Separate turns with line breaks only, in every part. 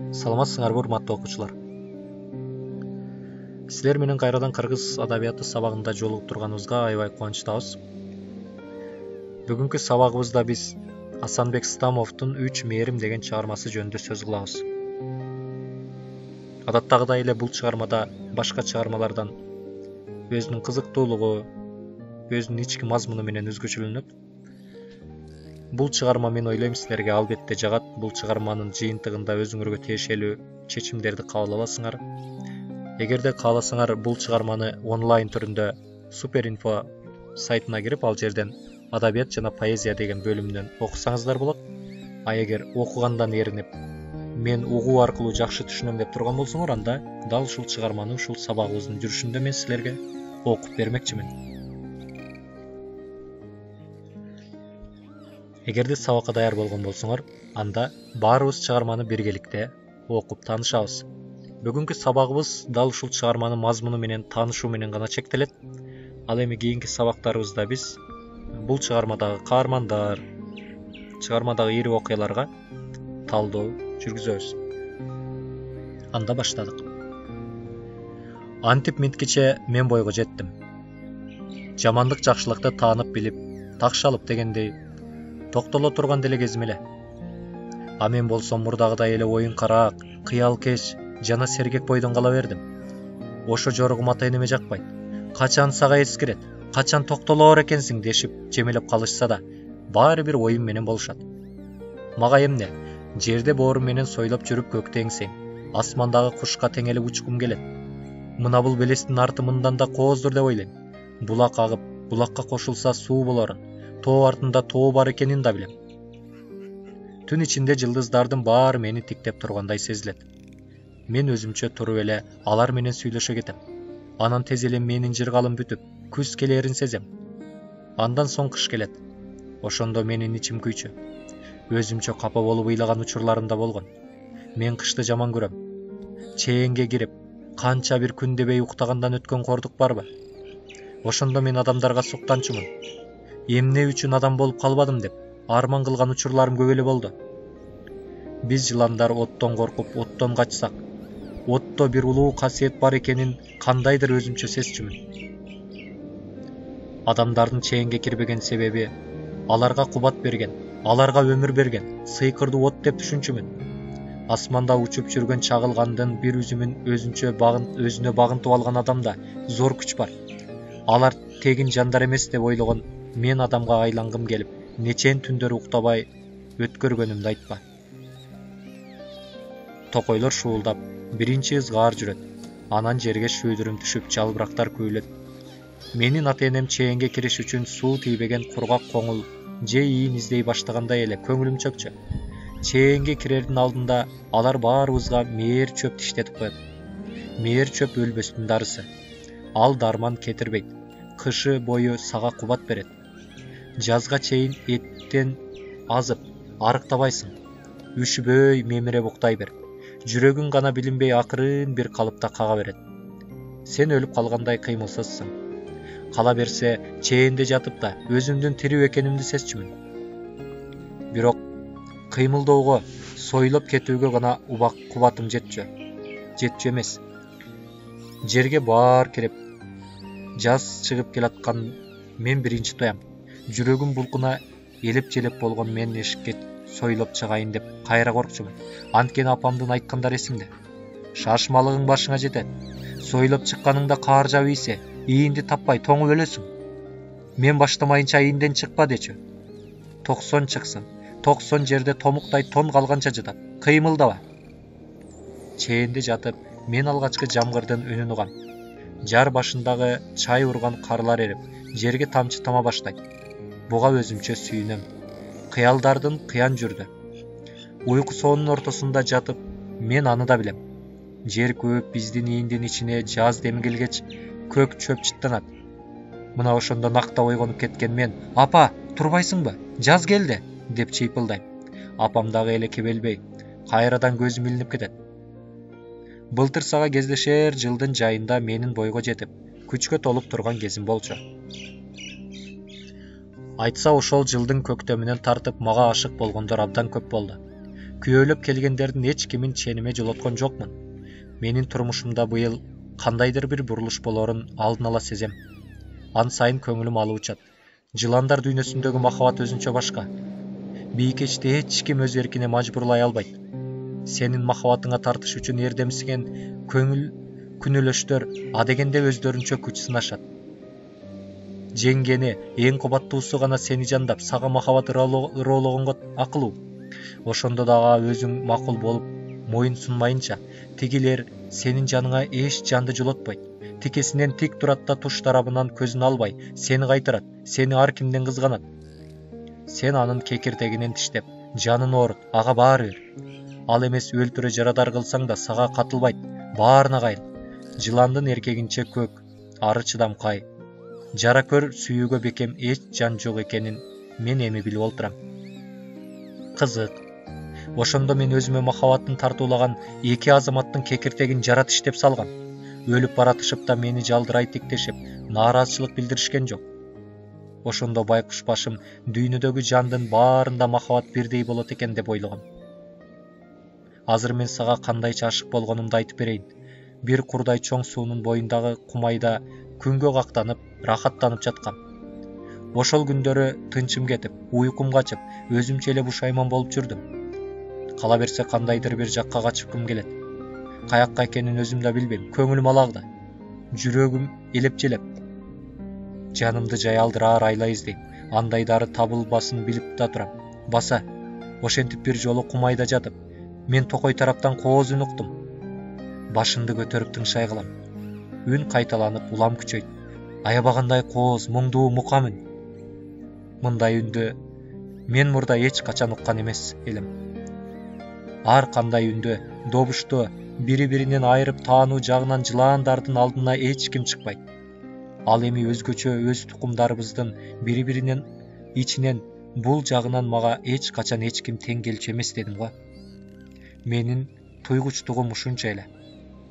Саламатсыңарбы урматтуу окуучулар. Силер менен кайрадан кыргыз адабияты сабагында жолугуп турганыбызга аябай кубанычтабыз. Бүгүнкү сабагыбызда биз Асанбек Стамовдун «Үч мээрим» деген чыгармасы жөнүндө сөз кылабыз. Адаттагыдай эле бул чыгармада башка чыгармалардан өзүнүн кызыктуулугу, өзүнүн ички мазмуну менен өзгөчөлөнөт. Бул чыгарма мен ойлойм силерге албетте жагат. Бул чыгарманын жыйынтыгында өзүңөргө тиешелүү чечимдерди кабыл аласыңар. Эгерде кааласаңар, бул чыгарманы онлайн түрүндө Суперинфо сайтына кирип, ал жерден адабият жана поэзия деген бөлүмүнөн окусаңыздар болот. А эгер окугандан эринип, мен угуу аркылуу жакшы түшүнөм деп турган болсоңор, анда дал ушул чыгарманы ушул сабагыбыздын жүрүшүндө мен силерге окуп бермекчимин. Эгерде сабакка даяр болгон болсоңор, анда баарыбыз чыгарманы биргеликте окуп таанышабыз. Бүгүнкү сабагыбыз дал ушул чыгарманын мазмуну менен таанышуу менен гана чектелет. Ал эми кийинки сабактарыбызда биз бул чыгармадагы каармандар, чыгармадагы ири окуяларга талдоо жүргүзөбүз. Анда баштадык. Антип минткиче мен бойго жеттим. Жамандык жакшылыкты таанып билип, такшалып дегендей токтоло турган деле кезим эле. А мен болсом мурдагыдай эле оюн караак, кыялкеч жана сергек бойдон кала бердим. Ошо жоругум ата энеме жакпайт. Качан сага эскирет, качан токтолоор экенсиң дешип жемелеп калышса да, баары бир оюм менен болушат. Мага эмне, жерде боорум менен сойлоп жүрүп көктө эңсең, асмандагы кушка теңелип учкум келет. Мына бул белестин арты мындан да кооздур деп ойлойм. Булак агып, булакка кошулса суу болорун, тоо артында тоо бар экенин да билем. Түн ичинде жылдыздардын баары мени тиктеп тургандай сезилет. Мен өзүмчө туруп эле алар менен сүйлөшө кетем. Анан тез эле менин жыргалым бүтүп, күз келээрин сезем. Андан соң кыш келет. Ошондо менин ичим күйчү. Өзүмчө капа болуп ыйлаган учурларым да болгон. Мен кышты жаман көрөм. Чээнге кирип, канча бир күн дебей уктагандан өткөн кордук барбы? Ошондо мен адамдарга суктанчумун. Эмне үчүн адам болуп калбадым деп арман кылган учурларым көп эле болду. Биз жыландар оттон коркуп, оттон качсак, отто бир улуу касиет бар экенин кандайдыр өзүмчө сезчүмүн. Адамдардын чээнге кирбеген себеби аларга кубат берген, аларга өмүр берген сыйкырдуу от деп түшүнчүмүн. Асманда учуп жүргөн чагылгандын бир үзүмүн өзүнө багынтып алган адамда зор күч бар. Алар тегин жандар эмес деп ойлогон мен адамга айлангым келип, нечен түндөр уктабай өткөргөнүмдү айтпа. Токойлор шуулдап, биринчи ызгаар жүрөт. Анан жерге шүүдүрүм түшүп, жалбырактар күйлөт. Менин ата энем чээнге кириш үчүн суу тийбеген кургак коңул же ийин издей баштагандай эле көңүлүм чөкчү. Чээнге кирердин алдында алар баарыбызга мээр чөп тиштетип коет. Мээр чөп өлбөстүн дарысы. Ал дарман кетирбейт. Кышы бою сага кубат берет. Жазга чейин эттен азып, арыктабайсың. Үшүбөй мемире буктай бер. Жүрөгүң гана билинбей акырын бир калыпта кага берет. Сен өлүп калгандай кыймылсызсың. Кала берсе, чээнде жатып да өзүмдүн тирүү экенимди сезчүмүн. Бирок кыймылдоого, сойлоп кетүүгө гана кубатым жетчү эмес. Жерге баар кирип, жаз чыгып келаткан мен биринчи тоям. Жүрөгүм булкуна элеп-желеп болгон мен эшикке сойлоп чыгайын деп кайра коркчумун. Анткени апамдын айткандары эсимде. Шашмалыгың башыңа жетет. Сойлоп чыкканыңда каар жаап ийсе, ийинди таппай тоңуп өлөсүң. Мен баштамайынча ийинден чыкпа дечү. 90 чыксын. 90 жерде томуктай тон калганча жатат. Кыймылдаба. Чээнде жатып, мен алгачкы жамгырдын үнүн угам. Жар башындагы чай урган карлар эрип, жерге тамчы тама баштайт. Буга өзүмчө сүйүнөм. Кыялдардын кыян жүрдү. Уйку соонун ортосунда жатып, мен аны да билем. Жер көөп биздин ийиндин ичине жаз дем келгеч, көк чөп чыттанат. Мына ошондо накта ойгонуп кеткен мен, апа, турбайсыңбы? Жаз келди, деп чыйпылдайм. Апам дагы эле кебелбей, кайрадан көзүм илинип кетет. Былтыр сага кездешер жылдын жайында менин бойго жетип, күчкө толуп турган кезим болчу. Айтса ошол жылдын көктөмүнөн тартып мага ашык болгондор абдан көп болду. Күйөөлөп келгендердин эч кимин чениме жолоткон жокмун. Менин турмушумда быйыл кандайдыр бир бурулуш болорун алдын ала сезем. Ан сайын көңүлүм алып учат. Жыландар дүйнөсүндөгү махабат өзүнчө башка. Бийкечти эч ким өз эркине мажбурлай албайт. Сенин махабатыңа тартыш үчүн эрдемсиген күнөөлөштөр адегенде өздөрүнчө күч сынашат. Жеңгени, эң кубаттуусу гана сени жандап, сага махабат ыроологонго акылуу. Ошондо дагы өзүң макул болуп моюн сунмайынча, тигилер сенин жаныңа эч жанды жолотпойт. Тикесинен тик турат да туш тарабынан көзүн албай, сени кайтарат, сени ар кимден кызганат. Сен анын кекиртегинен тиштеп, жанын оорут, ага баары бир. Ал эмес өлтүрө жарадар кылсаң да сага катылбайт, баарына кайыл. Жыландын эркегинче көк, ары чыдамкай. Жара көр сүйүүгө бекем эч жан жок экенин мен эми билип олтурам. Кызык. Ошондо мен өзүмө махабаттын тартуулаган эки азаматтын кекиртегин жара тиштеп салгам. Өлүп баратышып да мени жалдырай тиктешип, нааразычылык билдиришкен жок. Ошондо байкуш башым дүйнөдөгү жандын баарында махабат бирдей болот экен деп ойлогом. Азыр мен сага кандайча ашык болгонумду айтып берейин. Бир курдай чоң суунун боюндагы кумайда күнгө кактанып, рахаттанып жаткам. Ошол күндөрү тынчым кетип, уйкум качып, өзүмчө эле бушайман болуп жүрдүм. Кала берсе кандайдыр бир жакка качкым келет. Каякка экенин өзүм да билбейм, көңүлүм алакда. Жүрөгүм элеп-желеп. Жанымды жаялдыраар айла издейм. Андайдары табылбасын билип да турам. Баса, ошентип бир жолу кумайда жатып, мен токой тараптан кооз үн уктум. Башымды көтөрүп тыңшай калам. Үн кайталанып, улам күчөйт. Аябагандай кооз, муңдуу мукам үн. Мындай үндү мен мурда эч качан уккан эмес элем. Ар кандай үндө, добушто бири-биринен айырып таануу жагынан жылаандардын алдына эч ким чыкпайт. Ал эми өзгөчө өз тукумдарыбыздын бири-биринен ичинен бул жагынан мага эч качан эч ким тең келчү эмес дедим го. Менин туйгучтугум ушунча эле.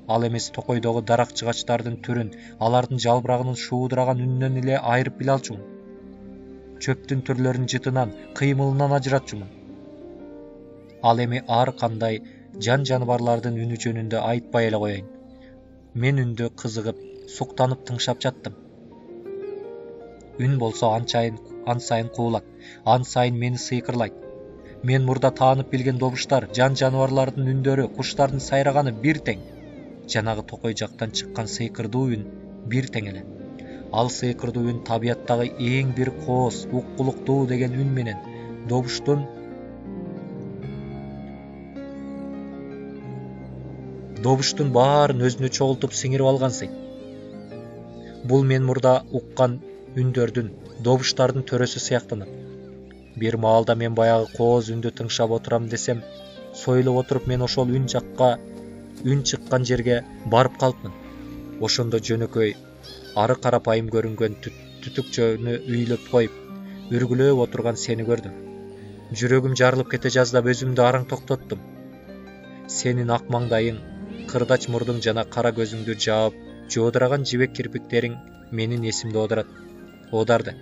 Ал эмес токойдогу дарак жыгачтардын түрүн, алардын жалбырагынын шуудураган үнүнөн эле айырып биле алчумун. Чөптүн түрлөрүн жытынан, кыймылынан ажыратчумун. Ал эми ар кандай жан жаныбарлардын үнү жөнүндө айтпай эле коеюн. Мен үндү кызыгып, суктанып тыңшап жаттым. Үн болсо ан сайын куулат, ан сайын мени сыйкырлайт. Мен мурда таанып билген добуштар, жан жаныбарлардын үндөрү, куштардын сайраганы бир тең. Жанагы токой жактан чыккан сыйкырдуу үн бир тең эле. Ал сыйкырдуу үн табияттагы эң бир кооз, уккулуктуу деген үн менен добуштун баарын өзүнө чогултуп сиңирип алгансый. Бул мен мурда уккан үндөрдүн, добуштардын төрөсү сыяктанат. Бир маалда мен баягы кооз үндү тыңшап отурам десем, сойлоп отуруп мен ошол үн чыккан жерге барып калыпмын. Ошондо жөнөкөй, ары карапайым көрүнгөн түтүкчөнү үйлөп коюп, үргүлөп отурган сени көрдүм. Жүрөгүм жарылып кете жаздап өзүмдү араң токтоттум. Сенин ак маңдайың, кырдач мурдуң жана кара көзүңдү жаап, жоодураган жибек кирпиктериң менин эсимде оодарды.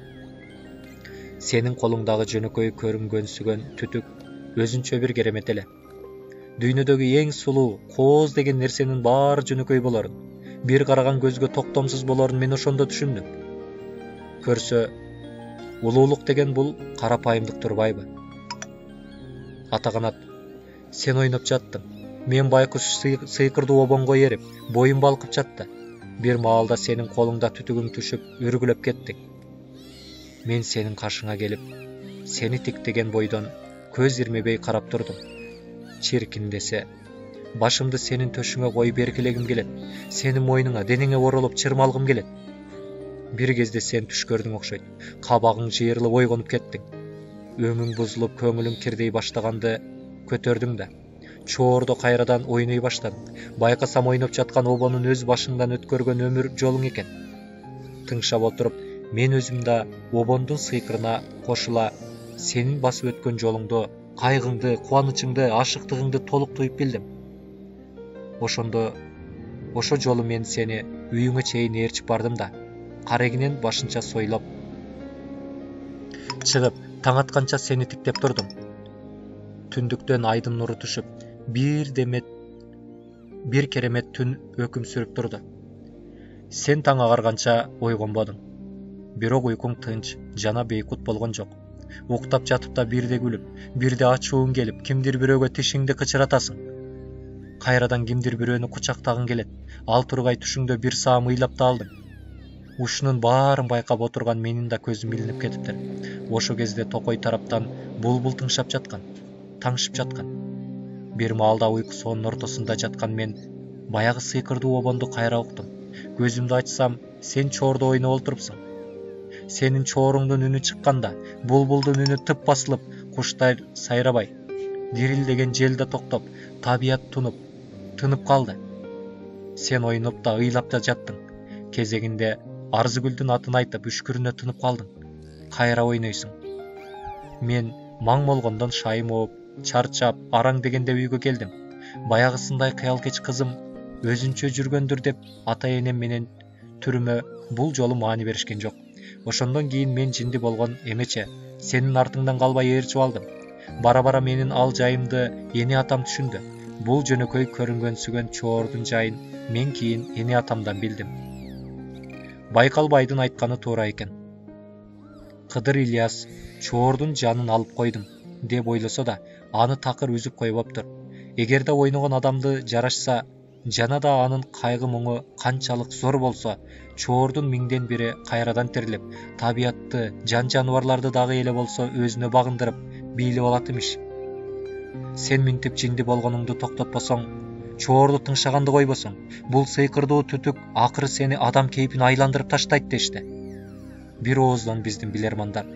Сенин колуңдагы жөнөкөй көрүнгөнсүгөн түтүк өзүнчө бир керемет эле. Дүйнөдөгү эң сулуу, кооз деген нерсенин баары жөнөкөй болорун, бир караган көзгө токтомсуз болорун мен ошондо түшүндүм. Көрсө, улуулук деген бул карапайымдык турбайбы? Атаканат, сен ойноп жаттың. Мен байкуш сыйкырдуу обонго эрип, боюм балкып жатты. Бир маалда сенин колуңда түтүгүң түшүп, үргүлөп кеттиң. Мен сенин каршыңа келип, сени тиктеген бойдон көз ирмебей карап турдум. Чиркин десе, башымды сенин төшүңө коюп эркелегим келет. Сенин мойнуңа, денеңе оролуп чырмалгым келет. Бир кезде сен түш көрдүң окшойт. Кабагың жыйырылып ойгонуп кеттиң. Өңүң бузулуп, көңүлүң кирдей баштаганды көтөрдүң да. Чоордо кайрадан ойной баштадың. Байкасам ойноп жаткан обонун өз башыңдан өткөргөн өмүр жолуң экен. Тыңшап отуруп, мен өзүм да обондун сыйкырына кошула сенин басып өткөн жолуңду, кайгыңды, кубанычыңды, ашыктыгыңды толук туюп билдим. Ошо жолу мен сени үйүңө чейин ээрчип бардым да, карегинен башынча сойлоп чыгып, таң атканча сени тиктеп турдум. түндүктөн айдын нуру түшүп, бир керемет түн өкүм сүрүп турду. Сен таң агарганча ойгонбодуң. Бирок уйкуң тынч жана бейкут болгон жок. Уктап жатып да бирде күлүп, бирде ачууң келип, кимдир бирөөгө тишиңди кычыратасың. Кайрадан кимдир бирөөнү кучактагың келет. Ал тургай түшүңдө бир саам ыйлап да алдың. Ушунун баарын байкап отурган менин да көзүм илинип кетиптир. Ошо кезде токой тараптан булбул тыңшап жаткан, таңшып жаткан. Бир маалда уйку соонун ортосунда жаткан мен баягы сыйкырдуу обонду кайра уктум. Көзүмдү ачсам, сен чоордо ойноп олтурупсуң. Сенин чооруңдун үнү чыкканда, булбулдун үнү тып басылып, куштар сайрабай, дирилдеген жел да токтоп, табият тынып калды. Сен ойноп да, ыйлап да жаттың. Кезегинде Арзыгүлдүн атын айтып, үшкүрүнө тынып калдың. Кайра ойнойсуң. Мен маң болгондон шайым ооп, чарчап, араң дегенде үйгө келдим. Баягысындай кыялкеч кызым өзүнчө жүргөндүр деп ата-энем менен түрүмө бул жолу маани беришкен жок. Ошондон кийин мен жинди болгон эмече сенин артыңдан калбай ээрчип алдым. Бара-бара менин ал жайымды эне атам түшүндү. Бул жөнөкөй көрүнгөнсүгөн чоордун жайын мен кийин эне атамдан билдим. Байкалбайдын айтканы туура экен. Кыдыр Ильяс чоордун жанын алып койдум деп ойлосо да, аны такыр үзүп койбоптур. Эгерде ойногон адамды жарашса, жана да анын кайгы муңу канчалык зор болсо, чоордун миңден бири кайрадан тирилип, табиятты, жан-жаныбарларды дагы эле болсо өзүнө багындырып, бийлеп алат имиш. Сен минтип жинди болгонуңду токтотпосоң, чоорду тыңшаганды койбосоң, бул сыйкырдуу түтүк акыры сени адам кейпин айландырып таштайт дешти. Бир ооздон биздин билермандар.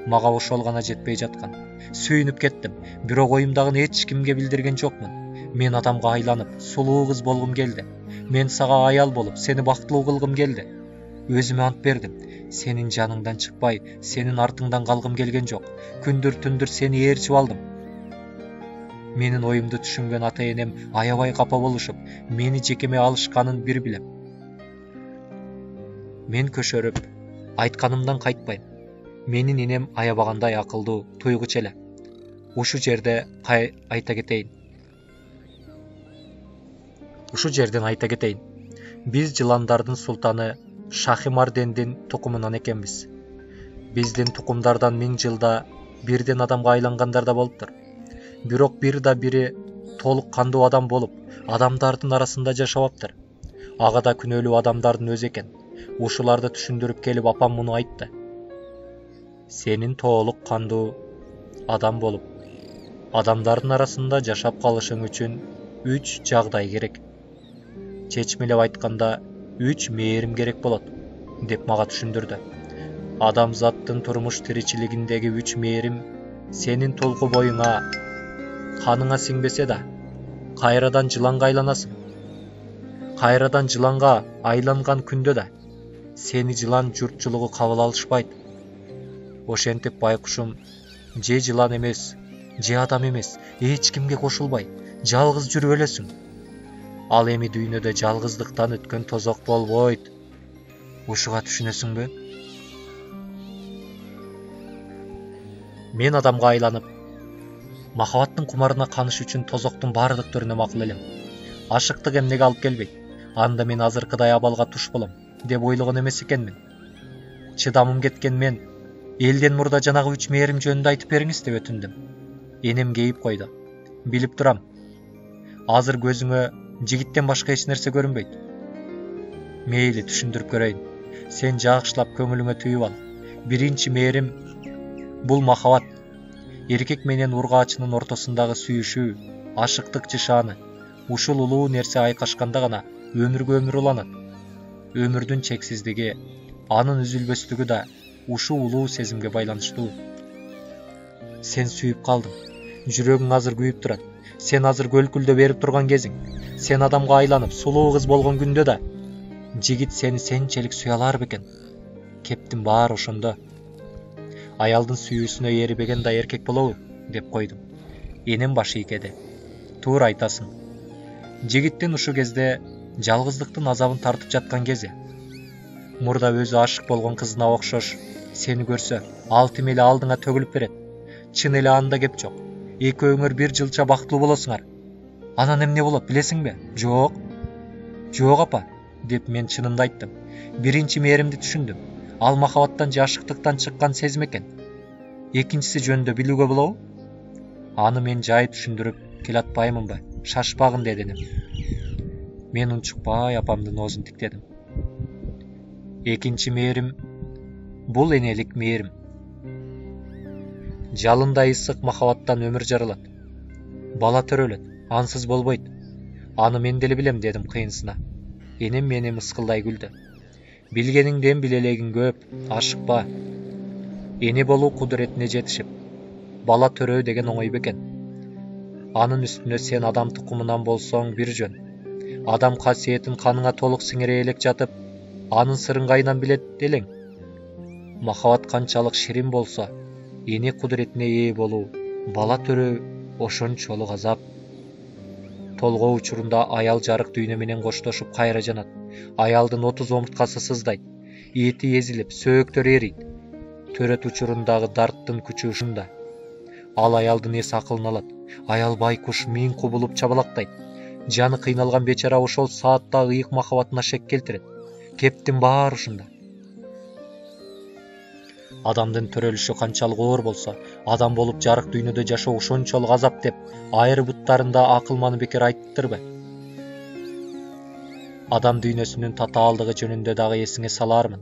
Мага ошол гана жетпей жаткан. Сүйүнүп кеттим, бирок оюмдагын эч кимге билдирген жокмун. Мен адамга айланып, сулуу кыз болгум келди. Мен сага аял болуп, сени бактылуу кылгым келди. Өзүмө ант бердим. Сенин жаныңдан чыкпай, сенин артыңдан калгым келген жок. Күндүр-түндүр сени ээрчип алдым. Менин оюмду түшүнгөн ата-энем аябай капа болушуп, мени жекеме алышканын бир билем. Мен көшөрүп, айтканымдан кайтпайм. Менин энем аябагандай акылдуу, туйгуч эле. Ушул жерден айта кетейин. Биз жыландардын султаны Шахимардендин тукумунан экенбиз. Биздин тукумдардан 1000 жылда бирден адамга айлангандар да болуптур. Бирок бир да бири толук кандуу адам болуп, адамдардын арасында жашабаптыр. Ага да күнөөлүү адамдардын өзү экен. Ушуларды түшүндүрүп келип апам муну айтты. Сенин толук кандуу адам болуп, адамдардын арасында жашап калышың үчүн 3 жагдай керек. Чечмелеп айтканда 3 мээрим керек болот, деп мага түшүндүрдү. Адамзаттын турмуш тиричилигиндеги 3 мээрим сенин толку боюңа, каныңа сиңбесе да, кайрадан жыланга айланасың. Кайрадан жыланга айланган күндө да сени жылан журтчулугу кабыл алышпайт. Ошентип байкушум же жылан эмес, же адам эмес, эч кимге кошулбай, жалгыз жүрүп өлөсүң. Ал эми дүйнөдө жалгыздыктан өткөн тозок болбойт. Ушуга түшүнөсүңбү? Мен адамга айланып, махабаттын кумарына каныш үчүн тозоктун бардык түрүнө макул элем. Ашыктык эмнеге алып келбейт? Анда мен азыркыдай абалга туш болом, деп ойлогон эмес экенмин. Чыдамым кеткен мен, элден мурда жанагы 3 мээрим жөнүндө айтып бериңиз деп өтүндүм. Энем кейип койду. Билип турам. Азыр көзүңө жигиттен башка эч нерсе көрүнбөйт. Мейли, түшүндүрүп көрөйүн. Сен жакшылап көңүлүңө түйүп ал. Биринчи мээрим бул махабат. Эркек менен ургаачынын ортосундагы сүйүшүү, ашыктык жышааны. Ушул улуу нерсе айкашканда гана өмүргө өмүр уланат. Өмүрдүн чексиздиги, анын үзүлбөстүгү да ушул улуу сезимге байланыштуу. Сен сүйүп калдың. Жүрөгүң азыр күйүп турат. Сен азыр көлкүлдө берип турган кезиң. Сен адамга айланып, сулуу кыз болгон күндө да жигит сени сенчелик сүйө алар бекен? Кептин баары ошондо. Аялдын сүйүүсүнө эрибеген да эркек болобу, деп койдум. Энем башы ийкеди. Туура айтасың. Жигиттин ушул кезде жалгыздыктын азабын тартып жаткан кези. Мурда өзү ашык болгон кызына окшош сени көрсө, ал тим эле алдыңа төгүлүп берет. Чын эле анда кеп жок. экөөңөр бир жылча бактылуу болосуңар. Анан эмне болот билесиңби? Жок апа, деп мен чынымды айттым. Биринчи мээримди түшүндүм. Ал махабаттан же ашыктыктан чыккан сезим экен. Экинчиси жөнүндө билүүгө болобу? Аны мен жай түшүндүрүп келатпаймынбы? Шашпагын дединим. Мен унчукпай апамдын оозун тиктедим. Экинчи мээрим бул энелик мээрим. Жалындай ысык махабаттан өмүр жаралат. Бала төрөлөт, ансыз болбойт. Аны мен деле билем, дедим кыйынсына. Энем мени мыскылдай күлдү. Билгениңден билелегиң көп, ашыкпа. Эне болуу кудуретине жетишип, бала төрөө деген оңой бекен. Анын үстүнө сен адам тукумунан болсоң бир жөн. Адам касиетин каныңа толук сиңире элек жатып, анын сырын кайынан билет элең. Махабат канчалык ширин болсо, эне кудуретине ээ болуу, бала төрөө ошончолук азап. Толгоо учурунда аял жарык дүйнө менен коштошуп кайра жанат. Аялдын 30 омурткасы сыздайт, эти эзилип, сөөктөрү эрийт. Төрөт учурундагы дарттын күчү ушунда. Ал аялдын эс акылын алат. Аял байкуш миң кубулуп чабалактайт. Жаны кыйналган бечара ошол саатта ыйык махабатына шек келтирет. Кептин баары ушунда. Адамдын төрөлүшү канчалык оор болсо, адам болуп жарык дүйнөдө жашоо ошончолук азап деп айры буттарында акылманы бекер айттырбы? Адам дүйнөсүнүн татаалдыгы жөнүндө дагы эсиңе салармын.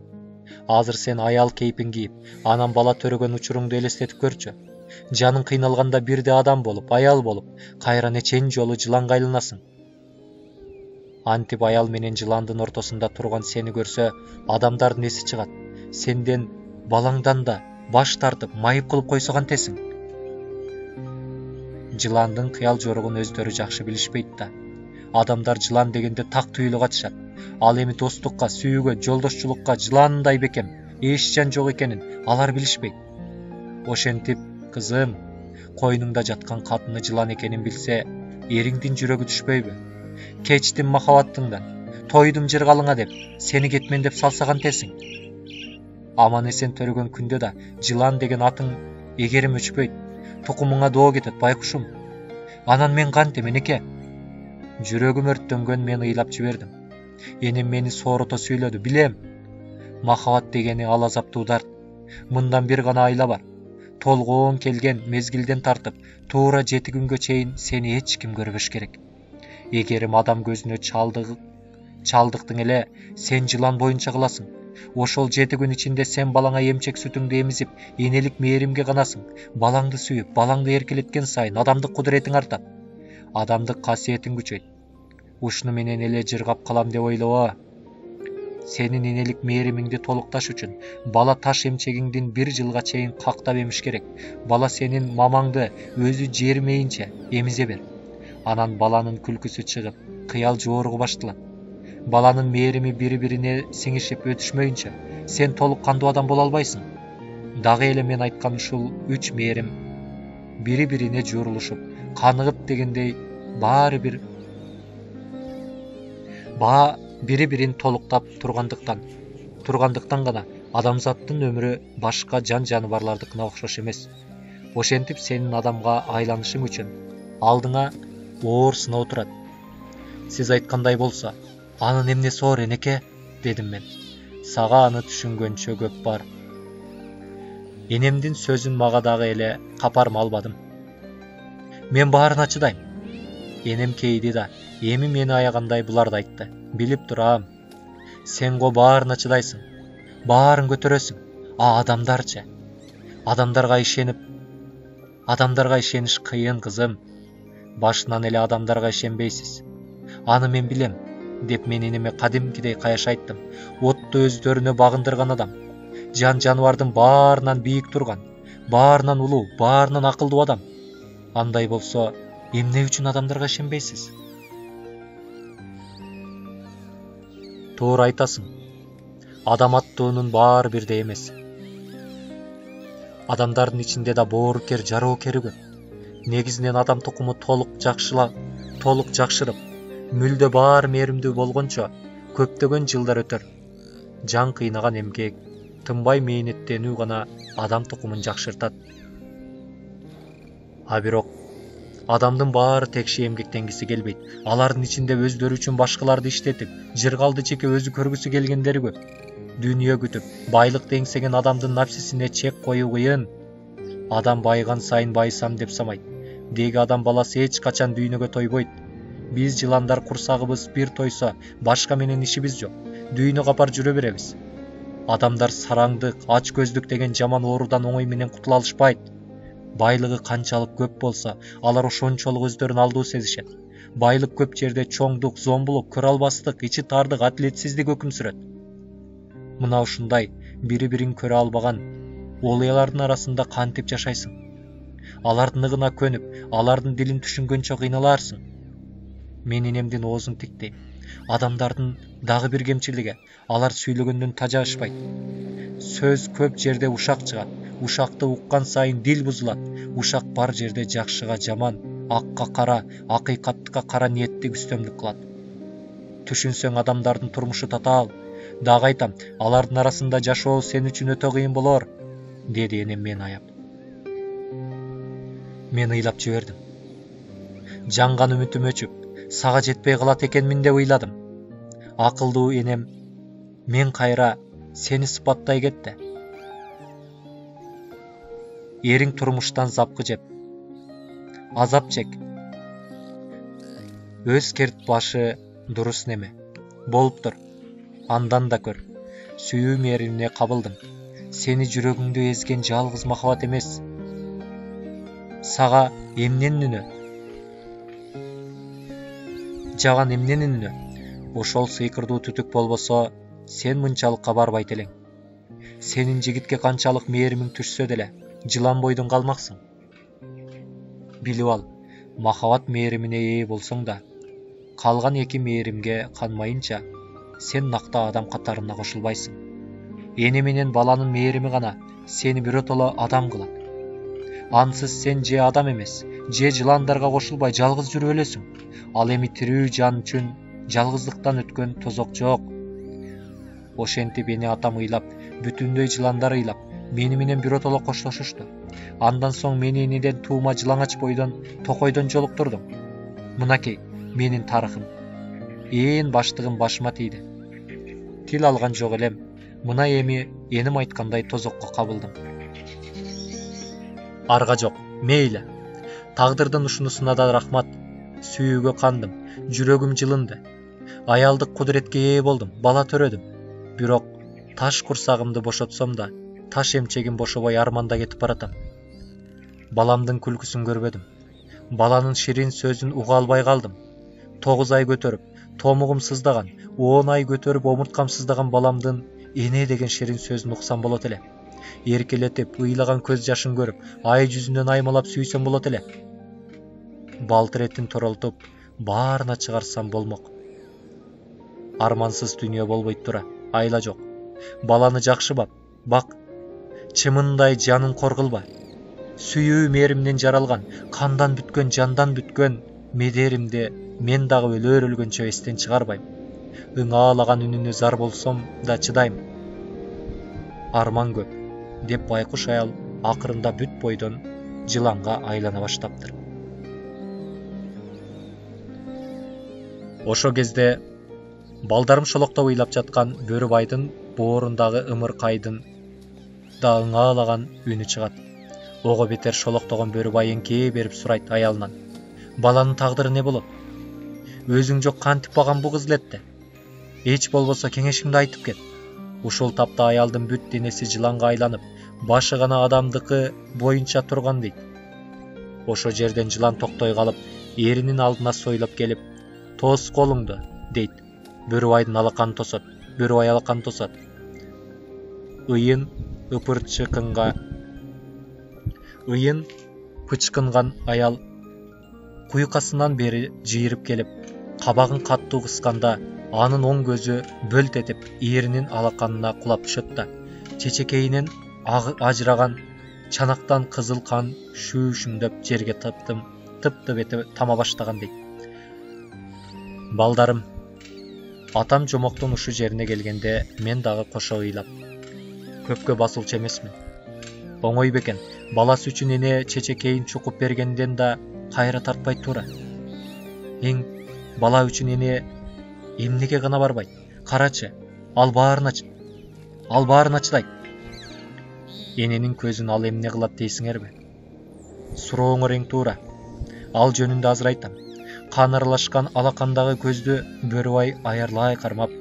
Азыр сен аял кейпин кийип, анан бала төрөгөн учуруңду элестетип көрчү. Жаның кыйналганда бирде адам болуп, аял болуп, кайра нечен жолу жыланга айланасың. Антип аял менен жыландын ортосунда турган сени көрсө, адамдардын эси чыгат. Сенден балаңдан да баш тартып, майып кылып койсо кантесиң? Жыландын кыял жоругун өздөрү жакшы билишпейт да. Адамдар жылан дегенде так түйүлүп катышат. Ал эми достукка, сүйүүгө, жолдошчулукка жыландай бекем, эч жан жок экенин алар билишпейт. Ошентип, кызым, койнуңда жаткан катыны жылан экенин билсе, эриңдин жүрөгү түшпөйбү? Кечтим махабаттыңдан, тойдум жыргалыңа деп, сени кетмен деп салса кантесиң? Аман эсен төрөгөн күндө да жылан деген атың эгерим өчпөйт. Тукумуңа доо кетет, байкушум. Анан мен кантем, энеке? Жүрөгүм өрттөнгөн, мен ыйлап жибердим. Энем мени сооруто сүйлөдү. Билем. Махабат дегени ал азаптуу дарт. Мындан бир гана айла бар. Толгоон келген мезгилден тартып, туура 7 күнгө чейин сени эч ким көрбөш керек. Эгерим адам көзүнө чалдыктың эле, сен жылан боюнча кыласың. Ошол 7 күн ичинде сен балаңа эмчек сүтүңдү эмизип, энелик мээримге канасың. Балаңды сүйүп, балаңды эркелеткен сайын адамдык кудуретиң артат. Адамдык касиетиң күчөйт. Ушуну менен эле жыргап калам деп ойлобо. Сенин энелик мээримиңди толукташ үчүн бала таш эмчегиңдин 1 жылга чейин кактап эмиш керек. Бала сенин мамаңды өзү жермейинче эмизе бер. Анан баланын күлкүсү чыгып, кыял жооругу башталат. Баланын мээрими бири-бирине сиңишип өтүшмөйүнчө сен толук кандуу адам боло албайсың. Дагы эле мен айткан ушул 3 мээрим бири-бирине жуурулушуп, каныгып дегендей бири-бирин толуктап тургандыктан гана адамзаттын өмүрү башка жан жаныбарлардыкына окшош эмес. Ошентип сенин адамга айланышың үчүн алдыңа оор сыноо турат. Сиз айткандай болсо, анын эмнеси оор, энеке? Дедим мен. Сага аны түшүнгөнчө көп бар. Энемдин сөзүн мага дагы эле капарма албадым. Мен баарына чыдайм. Энем кейди да, эми мени аягандай буларды айтты. Билип турам. Сен го баарына чыдайсың. Баарын көтөрөсүң. Адамдарчы. Адамдарга ишениш кыйын, кызым. Башынан эле адамдарга ишенбейсиз. Аны мен билем, деп мен энеме кадимкидей каяш айттым. Отту өздөрүнө багындырган адам. Жан жаныбардын баарынан бийик турган, баарынан улуу, баарынан акылдуу адам. Андай болсо, эмне үчүн адамдарга ишенбейсиз? Туура айтасың. Адам аттуунун баары бирдей эмес. Адамдардын ичинде да боорукер, жароокери көп. Негизинен адам тукуму толук жакшырып, мүлдө баар мээримдүү болгончо көптөгөн жылдар өтөр. Жан кыйнаган эмгек, тынбай мээнеттенүү гана адам тукумун жакшыртат. А бирок Адамдын баары текши эмгектенгиси келбейт. Алардын ичинде өздөрү үчүн башкаларды иштетип, жыргалды чеке өзү көргүсү келгендери көп. Дүйнө күтүп, байлыкты эңсеген адамдын напсисине чек коюу кыйын. Адам байыган сайын байысам деп самайт. Деги адам баласы эч качан дүйнөгө тойбойт. Биз жыландар курсагыбыз бир тойсо, башка менен ишибиз жок. Дүйнө капар жүрө беребиз. Адамдар сараңдык, ач көздүк деген жаман оорудан оңой менен кутула алышпайт. Байлыгы канчалык көп болсо, алар ошончолук өздөрүн алдуу сезишет. Байлык көп жерде чоңдук, зомбулук, көрө албастык, ичи тардык, адилетсиздик өкүм сүрөт. Мына ушундай бири-бирин көрө албаган олуялардын арасында кантип жашайсың? Алардын ыгына көнүп, алардын дилин түшүнгөнчө кыйналарсың. Мен инемдин оозун тиктейм. Адамдардын дагы бир кемчилиги, алар сүйлөгөндөн тажашпайт. Сөз көп жерде ушак чыгат. Ушакты уккан сайын дил бузулат. Ушак бар жерде жакшыга жаман, акка кара, акыйкаттыкка кара ниеттик үстөмдүк кылат. Түшүнсөң адамдардын турмушу татаал. Дагы айтам, алардын арасында жашоо сен үчүн өтө кыйын болор, деди энем мени аяп. Мен ыйлап жибердим. Жанган үмүтүм өчүп, сага жетпей калат экенмин деп ыйладым. Акылдуу энем, мен кайра сени сыпаттай кетти. Эриң турмуштан запкы жеп, азап чек. Өз керт башы дурус неме. Болуптур, андан да көр. Сүйүү мээримине кабылдым. Сени жүрөгүңдү эзген жалгыз махабат эмес. Сага эмненин үнү? Жаган эмненин үнү? Ошол сыйкырдуу түтүк болбосо, сен мынчалыкка барбайт элең. Сенин жигитке канчалык мээримиң түшсө деле, жылан бойдон калмаксың. Билип ал, махабат мээримине ээ болсоң да, калган эки мээримге канмайынча, сен накта адам катарына кошулбайсың. Эне менен баланын мээрими гана сени биротоло адам кылат. Ансыз сен же адам эмес, же жыландарга кошулбай жалгыз жүрүп өлөсүң. Ал эми тирүү жан үчүн жалгыздыктан өткөн тозок жок. Ошентип эне атам ыйлап, бүтүндөй жыландар ыйлап, мени менен биротоло коштошушту. Андан соң мени энеден туума жылаңач бойдон, токойдон жолуктурдум. Мынакей менин тарыхым. Ээн баштыгым башыма тийди. Тил алган жок элем. Мына эми эним айткандай тозокко кабылдым. Арга жок, мейли. Тагдырдын ушунусуна да рахмат. Сүйүүгө кандым, жүрөгүм жылынды. Аялдык кудуретке ээ болдум, бала төрөдүм. Бирок таш курсагымды бошотсом да, таш эмчегим бошобой арманда кетип баратам. Баламдын күлкүсүн көрбөдүм. Баланын ширин сөзүн уга албай калдым. 9 ай көтөрүп, томугум сыздаган, 10 ай көтөрүп, омурткам сыздаган баламдын эне деген ширин сөзүн уксам болот эле. Эркелетип, ыйлаган көз жашын көрүп, ай жүзүнөн аймалап сүйсөм болот эле. Балтыр этин торолтуп, баарына чыгарсам болмок. Армансыз дүйнө болбойт тура, айла жок. Баланы жакшы бак, чымындай жанын коргулба. Сүйүү мээримден жаралган, кандан бүткөн, жандан бүткөн медеримди мен дагы өлгөнчө эстен чыгарбайм. Ыңаалаган үнүнө зар болсом да чыдайм. Арман көп, деп байкуш аял акырында бүт бойдон жыланга айлана баштаптыр. Ошо кезде балдарым шолоктоп ыйлап жаткан Бөрүбайдын боорундагы ымыркайдын да ыңаалаган үнү чыгат. Ого бетер шолоктогон Бөрүбай эңкее берип сурайт аялынан. Баланын тагдыры не болот? Өзүң жок кантип баган бу кыз элетти? Эч болбосо кеңешиңди айтып кет. Ушул тапта аялдын бүт денеси жыланга айланып, башы гана адамдыкы боюнча турган дейт. Ошо жерден жылан токтой калып, эринин алдына сойлоп келип, "Тос колуңду", дейт. Бөрүбайдын алаканы тосот. Бөрүбай алаканы тосот. Ыйын пычкынган аял куйкасынан бери жыйырып келип, кабагын каттуу кысканда, анын оң көзү бөлт этип, эринин алаканына кулап түшөт да, чечекейинен ажыраган чанактан кызыл кан шүүшүмдөп жерге тыптып этип тама баштаган дейт. Балдарым, атам жомоктун ушу жерине келгенде мен дагы кошо ыйлап, көпкө басылчу эмесмин. Оңой бекен, баласы үчүн эне чечекейин чукуп бергенден да кайра тартпайт туура. Эң бала үчүн эне эмнеге гана барбайт? Карачы, ал баарын ачтайт. Эненин көзүн ал эмне кылат дейсиңерби? Сурооңор эң туура. Ал жөнүндө азыр айтам. Кан аралашкан алакандагы көздү Бөрүбай аярлай кармап,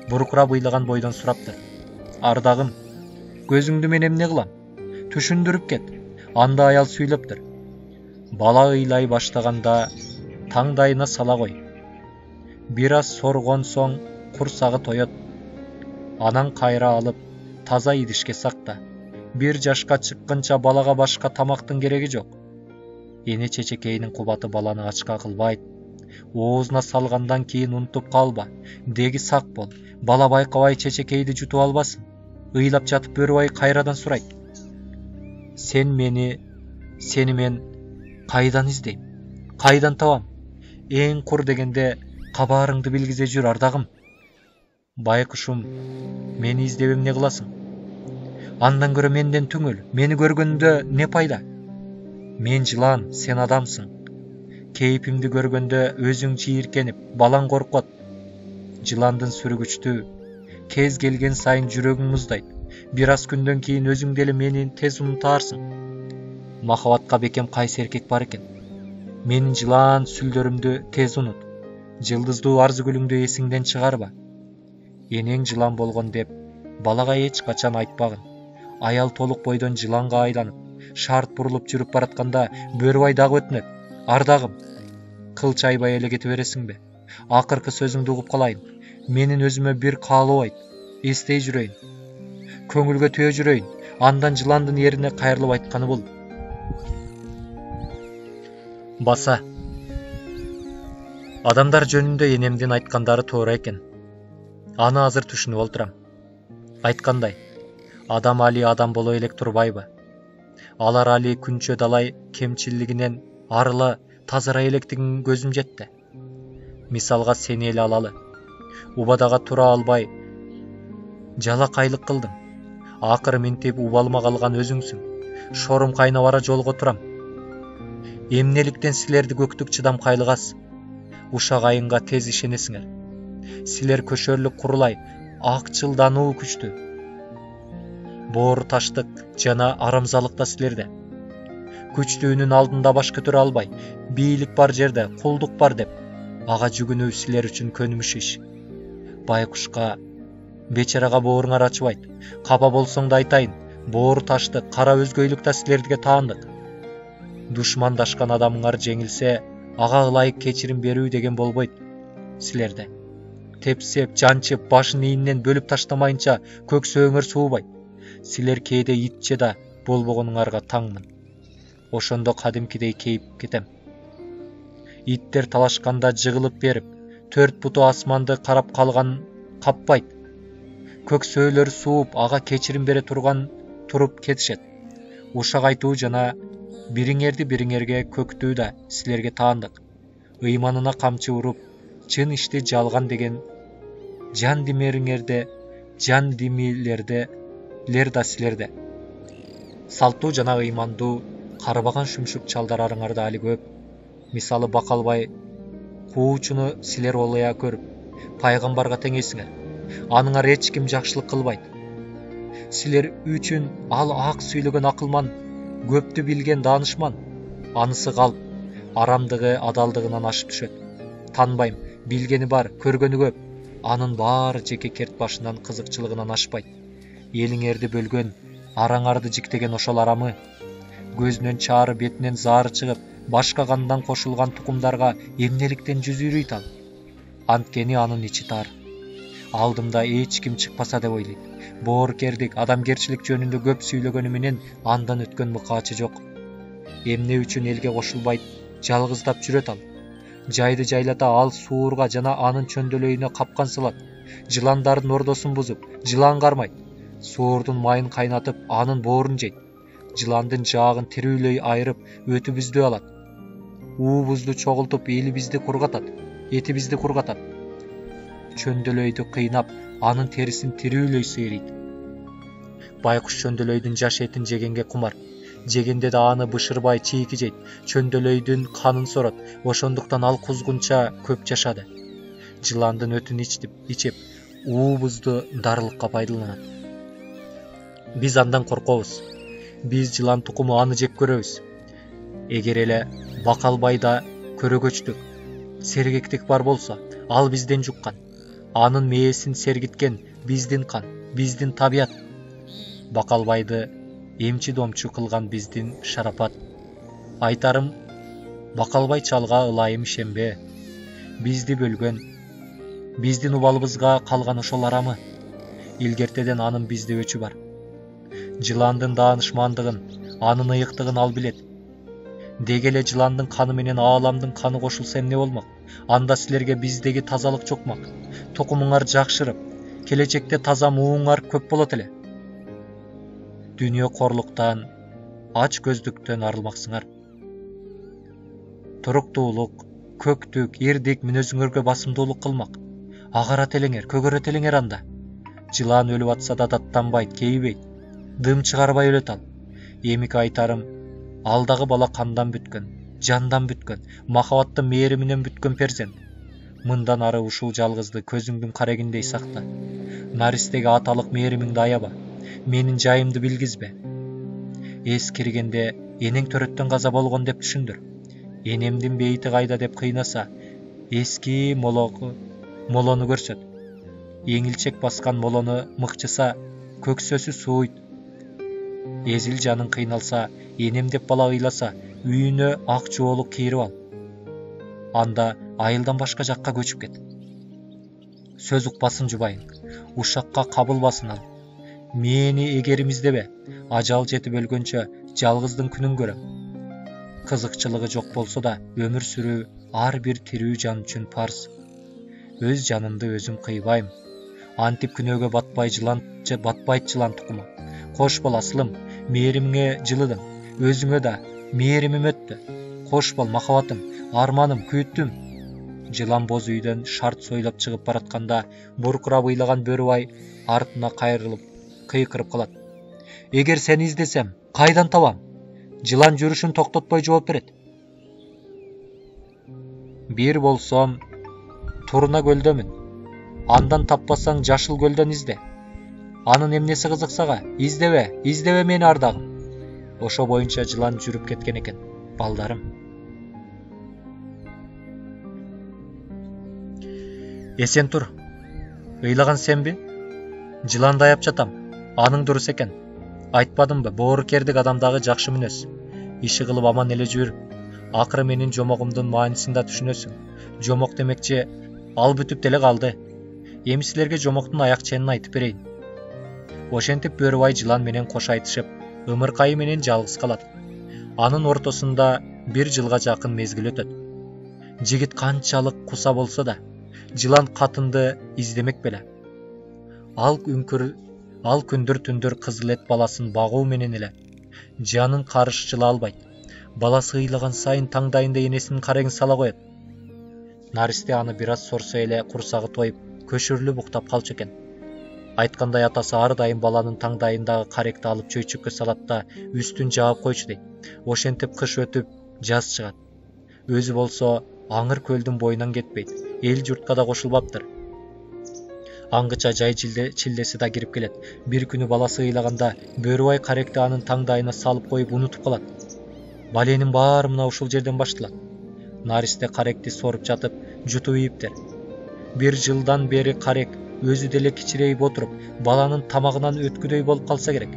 буркурап ыйлаган бойдон сураптыр. Ардагым, көзүңдү мен эмне кылам? Түшүндүрүп кет. Анда аял сүйлөптүр. Бала ыйлай баштаганда таңдайына сала кой. Бир аз соргон соң курсагы тоет. Анан кайра алып таза идишке сакта. 1 жашка чыкканча балага башка тамактын кереги жок. Эне чечекейинин кубаты баланы ачка кылбайт. Оозуна салгандан кийин унутуп калба. Деги сак бол. Бала байкабай чечекейди жутуп албасын. Ыйлап жатып Бөрүбай кайрадан сурайт. Сени мен кайдан издейм? Кайдан табам? Эң кур дегенде кабарыңды билгизе жүр ардагым. Байкушум, мени издеп эмне кыласың? Андан көрө менден түңүл. Мени көргөндө не пайда? Мен жылан, сен адамсың. Кейпимди көргөндө өзүң чийиркенип, балаң коркот. Жыландын сүрү күчтүү. Кез келген сайын жүрөгүң муздайт. Бир аз күндөн кийин өзүң деле мени тез унутарсың. Махабатка бекем кайсы эркек бар экен? Менин жылан сүлдөрүмдү тез унут. Жылдыздуу арзыгүлүңдү эсиңден чыгарба. Энең жылан болгон деп балага эч качан айтпагын. Аял толук бойдон жыланга айланып, шарт бурулуп жүрүп баратканда Бөрүбай дагы өтүнөт. Ардагым, кылч айбай эле кете бересиңби? Акыркы сөзүңдү угуп калайын. Менин өзүмө бир каалоо айт. Эстей жүрөйүн. Көңүлгө төө жүрөйүн. Андан жыландын эрине кайрылып айтканы бул. Баса. Адамдар жөнүндө энемдин айткандары туура экен. Аны азыр түшүнүп олтурам. Айткандай, адам али адам боло элек турбайбы? Алар али күнчө далай кемчилигинен арыла тазара электигин көзүм жетти. Мисалга сени эле алалы. Убадага тура албай жалакайлык кылдым. Акыры минтип убалыма калган өзүңсүң. Шорум кайнап ара жолго турам. Эмнеликтен силерди көктүк чыдам кайлыгас? Ушак айынга тез ишенесиңер. Силер көшөрлүк курулай, акчылдануу күчтүү. Боору таштык жана арамзалык да силерде. Күчтүүнүн алдында баш көтөрө албай, бийлик бар жерде кулдук бар деп, ага жүгүнүү силер үчүн көнүмүш иш. Байкушка, бечарага бооруңар ачыбайт. Капа болсоң да айтайын, боору таштык, кара өзгөйлүк да силерге таандык. Душмандашкан адамыңар жеңилсе, ага ылайык кечирим берүү деген болбойт силерде. Тепсеп, жанчып, башын ийинен бөлүп таштамайынча көксөөңөр суубайт. Силер кээде итче да болбогонуңарга таңмын. Ошондо кадимкидей кейип кетем. Иттер талашканда жыгылып берип, 4 буту асманды карап калган каппайт. Көксөөлөр сууп, ага кечирим бере туруп кетишет. Ушак айтуу жана бириңерге көктүү да силерге таандык. Ыйманына камчы уруп, чын ишти жалган деген жан димилердер да силерде. Салттуу жана ыймандуу карбаган шүмшүк чалдар араңарда али көп. Мисалы Бакалбай куучуну силер олая көрүп, пайгамбарга теңейсиңер. Аныңар эч ким жакшылык кылбайт. Силер үчүн ал ак сүйлөгөн акылман, көптү билген даанышман. Анысы калп, арамдыгы адалдыгынан ашып түшөт. Танбайм, билгени бар, көргөнү көп. Анын баары жеке керт башынан кызыкчылыгынан ашпайт. Элиңерди бөлгөн, араңарды жиктеген ошол арамы. Көзүнөн чаары, бетинен заары чыгып, башка кандан кошулган тукумдарга эмнеликтен жүз үйрүйт ал. Анткени анын ичи тар. Алдымда эч ким чыкпаса деп ойлойт. Боорукердик, адамгерчилик жөнүндө көп сүйлөгөнү менен андан өткөн мыкаачы жок. Эмне үчүн элге кошулбайт, жалгыздап жүрөт ал. Жайды жайлата ал суурга жана анын чөндөөлөйүнө капкан салат. Жыландардын ордосун бузуп, жылан кармайт. Суурдун майын кайнатып, анын боорун жейт. Жыландын жаагын тирүүлөй айырып, өтүбүздү алат. Уубузду чогултуп, элибизди кургатат, этибизди кургатат. Чөндөөлөйдү кыйнап, анын терисин тирүүлөй сыйрыйт. Байкуш чөндөөлөйдүн жаш этин жегенге кумар. жегенде да аны бышырбай чийки жейт, чөндөлөйдүн канын сорот, ошондуктан ал кузгунча көп жашады. Жыландын өтүн ичип, уубузду дарылыкка пайдаланат. Биз андан коркобуз. Биз жылан тукуму аны жеп көрөбүз. Эгер эле Бакалбайда көрөгөчтүк, сергектик бар болсо, ал бизден жуккан. Анын мээсин сергиткен биздин кан, биздин табият. Бакалбайды эмчи-домчу кылган биздин шарапат. Айтарым, Бакалбай чалга ылайым ишенбе. Бизди бөлгөн, биздин убалыбызга калган ошол арамы. Илгертеден анын бизде өчү бар. Жыландын даанышмандыгын, анын ыйыктыгын ал билет. Деги эле жыландын каны менен ааламдын каны кошулса эмне болмок? Анда силерге биздеги тазалык жокмак. Тукумуңар жакшырып, келечекте таза мууңар көп болот эле. Дүйнө корлуктан, ач көздүктөн арылмаксыңар. Туруктуулук, көктүк, ирдик мүнөзүңөргө басымдуулук кылмак. Агарат элеңер, көгөрөт элеңер анда. Жылан өлүп атса да даттанбайт, кейбейт. Дым чыгарбай өлөт ал. Эмики айтарым, алдагы бала кандан бүткөн, жандан бүткөн, махабаттын мээриминен бүткөн перзент. Мындан ары ушул жалгызды көзүңдүн карегиндей сакта. Наристеги аталык мээримиңди аяба. Менин жайымды билгизбе. Эс киргенде энең төрөттөн каза болгон деп түшүндүр. Энемдин бейити кайда деп кыйнаса, эски молону көрсөт. Эңилчек баскан молону мыкчыса, көксөсү сууйт. Эзил жаның кыйналса, энем деп бала ыйласа, үйүнө ак жоолук кийирип ал. Анда айылдан башка жакка көчүп кет. Сөз укпасын жубайың, ушакка кабылбасын ал. Мени эгеримиздебе, ажал жетип өлгөнчө жалгыздын күнүн көрөм. Кызыкчылыгы жок болсо да, өмүр сүрүү ар бир тирүү жан үчүн парз. Өз жанымды өзүм кыйбайм. Антип күнөөгө батпайт жылан тукуму. Кош бол асылым, мээримиңе жылыдым. Өзүңө да мээримим өттү. Кош бол махабатым, арманым, күйүттүм. Жылан боз үйдөн шарт сойлоп чыгып баратканда, буркурап ыйлаган бөрүбай артына кайрылып, кыйкырып калат. Эгер сени издесем, кайдан табам? Жылан жүрүшүн токтотпой жооп берет. Бир болсом, Турна көлдөмүн. Андан таппасаң Жашыл көлдөн изде. Анын эмнеси кызык сага? Издебе мени ардагым. Ошо боюнча жылан жүрүп кеткен экен, балдарым. Эсен тур. Ыйлаган сенби? Жыланды аяп жатам. Аның дурус экен. Айтпадымбы, боорукердик адамдагы жакшы мүнөз. Иши кылып аман эле жүр. Акыры менин жомогумдун маанисин да түшүнөсүң. Жомок демекчи, ал бүтүп деле калды. Эми силерге жомоктун аяк ченин айтып берейин. Ошентип бөрүбай жылан менен кош айтышып, ымыркайы менен жалгыз калат. Анын ортосунда 1 жылга жакын мезгил өтөт. Жигит канчалык куса болсо да, жылан катынды издемек беле. Ал күндүр түндүр кызыл эт баласын багуу менен эле жанын карыш жыла албайт. Баласы ыйлаган сайын таңдайында энесинин карегин сала коет. Наристе аны бир аз сорсо эле курсагы тоюп, көшүрүлүп уктап калчу экен. Айткандай атасы ар дайым баланын таңдайындагы каректи алып чөйчөккө салат да үстүн жаап койчу дейт. Ошентип кыш өтүп, жаз чыгат. Өзү болсо аңыр көлдүн боюнан кетпейт. Эл журтка да кошулбаптыр. Аңгыча жай чилдеси да кирип келет. Бир күнү баласы ыйлаганда бөрүбай каректи анын таңдайына салып коюп унутуп калат. Баленин баары мына ушул жерден башталат. Наристе каректи соруп жатып, жутуп ийиптер. 1 жылдан бери карек өзү деле кичирейип отуруп, баланын тамагынан өткүдөй болуп калса керек.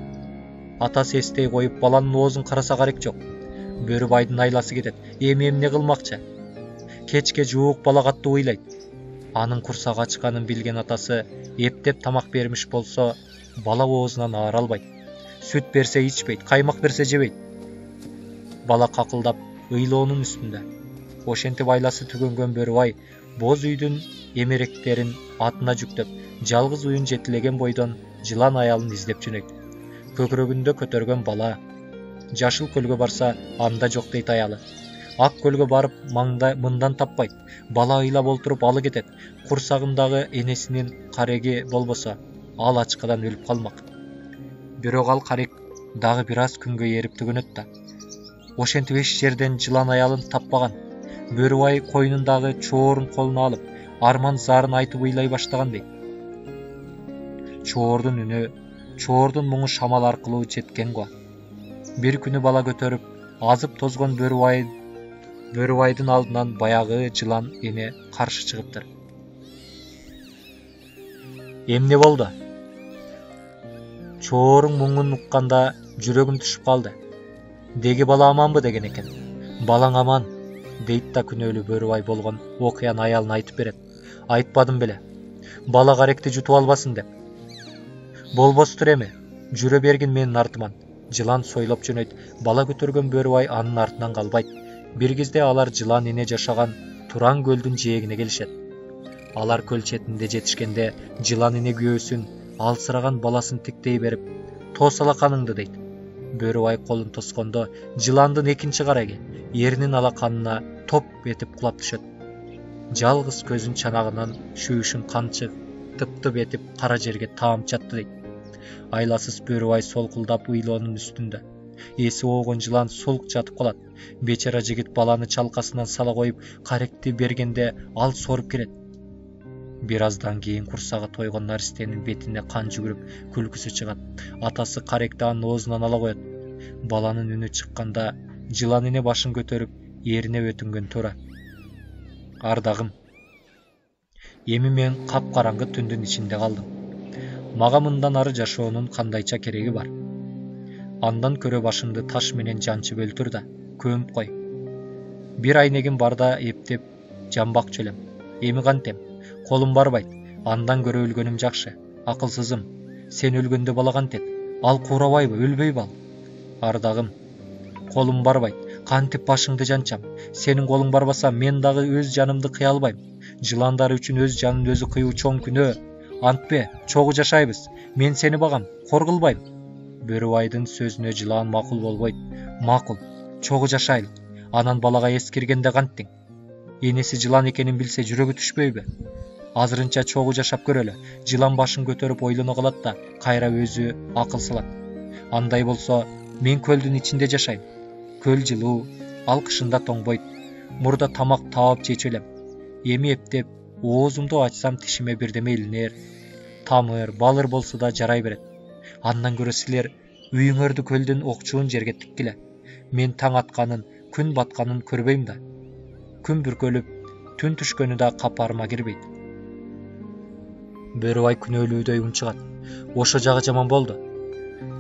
Атасы эстей коюп, баланын оозун караса карек жок. Бөрүбайдын айласы кетет. Эми эмне кылмакчы? Кечке жуук бала катты ыйлайт. Анын курсагы ачканын билген атасы эптеп тамак бермиш болсо, бала оозунан аар албайт. Сүт берсе ичпейт, каймак берсе жебейт. Бала какылдап ыйлоонун үстүндө. Ошентип айласы түгөнгөн бөрүбай боз үйдүн эмеректерин атына жүктөп, жалгыз уюн жетилеген бойдон жылан аялын издеп жөнөйт. Көкүрөгүндө көтөргөн бала. Жашыл көлгө барса, анда жок дейт аялы. Ак көлгө барып мындан таппайт. Бала ыйлап олтуруп алы кетет. Курсагындагы энесинин кареги болбосо, ал ачкадан өлүп калмак. Бирок ал карек дагы бир аз күнгө эрип төгөнөт да. Ошентип эч жерден жылан аялын таппаган. Бөрүбай койнундагы чоорун колуна алып, арман зарын айтып ыйлай баштаган дейт. Чоордун үнү, чоордун муңу шамал аркылуу жеткен го. Бир күнү бала көтөрүп, азып тозгон Бөрүбайдын алдынан баягы жылан эне каршы чыгыптыр. Эмне болду? Чоорун муңун укканда жүрөгүм түшүп калды. Деги бала аманбы деген экен. Балаң аман, дейт да күнөөлүү Бөрүбай болгон окуяны аялына айтып берет. Айтпадым беле. Бала каректи жутуп албасын деп. Болбостур эми, жүрө бергин менин артыман. Жылан сойлоп жөнөйт. Бала көтөргөн Бөрүбай анын артынан калбайт. Бир кезде алар жылан эне жашаган Туран көлдүн жээгине келишет. Алар көл четинде жетишкенде жылан эне күйөөсүн, алсыраган баласын тиктей берип, "Тос алаканыңды" дейт. Бөрүбай колун тоскондо жыландын экинчи караги эринин алаканына топ этип кулап түшөт. Жалгыз көзүн чанагынан шүүшүн канчы тып-тып этип кара жерге таам чатты дейт. Айласыз Бөрүбай солкулдап ыйлоонун үстүндө. Эси оогон жылан сулк жатып калат. Бечара жигит баланы чалкасынан сала коюп, каректи бергенде ал соруп кирет. Бир аздан кийин курсагы тойгон наристенин бетине кан жүгүрүп, күлкүсү чыгат. Атасы каректи анын оозунан ала коет. Баланын үнү чыкканда жылан эне башын көтөрүп, эрине өтүнгөн туура. Ардагым, эми мен капкараңгы түндүн ичинде калдым. Мага мындан ары жашоонун кандайча кереги бар? Андан көрө башымды таш менен жанчып өлтүр да, көмүп кой. Бир айнегим барда эптеп жамбак жөлөм. Эми кантем? Колум барбайт. Андан көрө өлгөнүм жакшы. Акылсызым, сен өлгөндө бала кантет? Ал куурабайбы, өлбөйбү ал? Ардагым, колум барбайт. Кантип башыңды жанчам? Сенин колуң барбаса, мен дагы өз жанымды кыя албайм. Жыландар үчүн өз жанын өзү кыюу чоң күнөө. Антпе, чогуу жашайбыз. Мен сени багам, кор кылбайм. Бөрүбайдын сөзүнө жылан макул болбойт. Макул, чогуу жашайлык. Анан балага эскиргенде канттиң? Энеси жылан экенин билсе жүрөгү түшпөйбү? Азырынча чогуу жашап көрөлү. Жылан башын көтөрүп ойлоно калат да, кайра өзү акыл салат. Андай болсо, мен көлдүн ичинде жашайм. Көл жылуу, ал кышында тоңбойт. Мурда тамак таап жечү элем. Эми эптеп, оозумду ачсам тишиме бирдеме илинер. Тамыр, балыр болсо да жарай берет. Андан көрө силер үйүңөрдү көлдүн окчуун жерге тиккиле. Мен таң атканын, күн батканын көрбөйм да. Күн бүркөлүп, түн түшкөнү да капарыма кирбейт. Бөрүбай күнөөлүүдөй унчугат. Ошо жагы жаман болду.